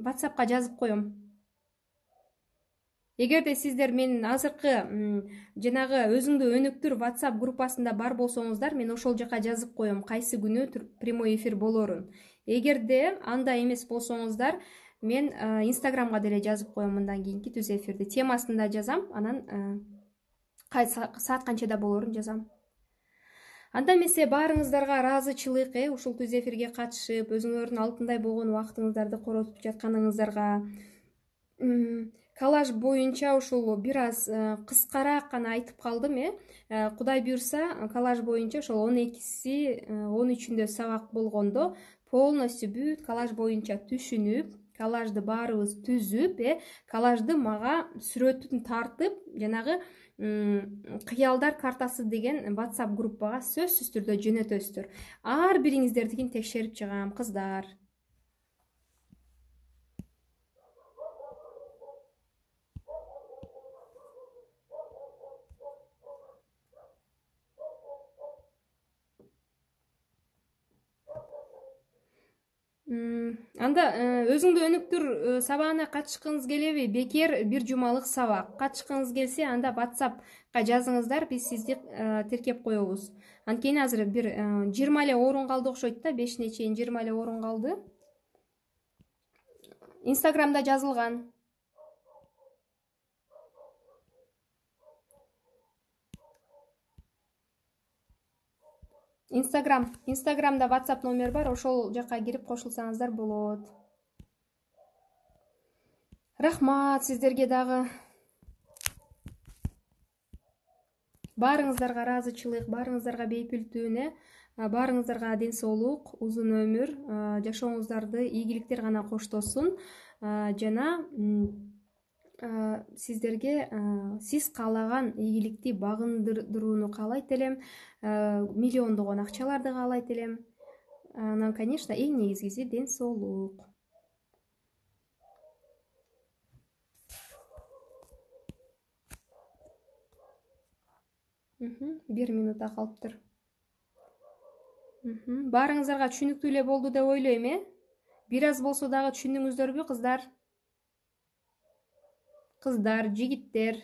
WhatsAppка жазып коем. Эгерде сиздер менин азыркы жанагы өзүңдү өнүктүр WhatsApp группасында бар болсоңуздар, мен ошол жака жазып коем кайсы күнү прямой эфир болорун. Эгерде анда эмес болсоңуздар, мен Instagramга деле жазып коем мындан кийинки түз эфирди. Темасын да жазам, анан саат канчада болорун жазам. Анда эмесе баарыңыздарга ыраазычылык, ушул түз эфирге катышып, өзүңөрдүн алтындай болгон убактыңыздарды коротуп жатканыңыздарга. Коллаж боюнча ушул бир аз кыскараак гана айтып калдым, Кудай буйрса, коллаж боюнча ошол 12-си, 13-үндө сабак болгондо полностью бүт коллаж боюнча түшүнүп, коллажды баарыбыз түзүп, коллажды мага сүрөтүн тартып, жанагы кыялдар картасы деген WhatsApp группага сөзсүз түрдө жөнөтөсүздөр. Ар бириңиздердикин текшерип чыгам, кыздар. Анда өзүңдү өнүктүр сабагына катышкыңыз келеби? Бекер бир жумалык сабак. Катышкыңыз келсе, анда WhatsAppка жазыңыздар, биз сизди тиркеп коебуз. Анткени азыр бир 20 эле орун калды окшойт да, 5-не чейин 20 эле орун калды. Instagramда жазылган. Instagramда WhatsApp номер бар, ошол жака кирип кошулсаңыздар болот. Рахмат сиздерге дагы. Баарыңыздарга ыраазычылык, баарыңыздарга бейпилтүүнү, баарыңыздарга ден соолук, узун өмүр, жашооңуздарды ийгиликтер гана коштосун. Жана сиздерге сиз каалаган ийгиликти багындырууну каалайт элем, миллиондогон акчаларды каалайт элем. Анан, конечно, эң негизгиси ден соолук. Бир минутта калыптыр. Баарыңыздарга түшүнүктүү эле болду деп ойлойм, Бир аз болсо дагы түшүндүңүздөрбү, кыздар? Кыздар, жигиттер.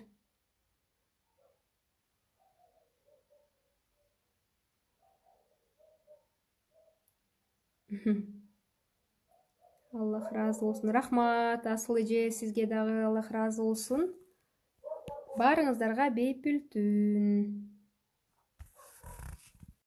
Аллах ыраазы болсун. Рахмат, Асыл эже, сизге дагы Аллах ыраазы болсун. Баарыңыздарга бейпилтүүн.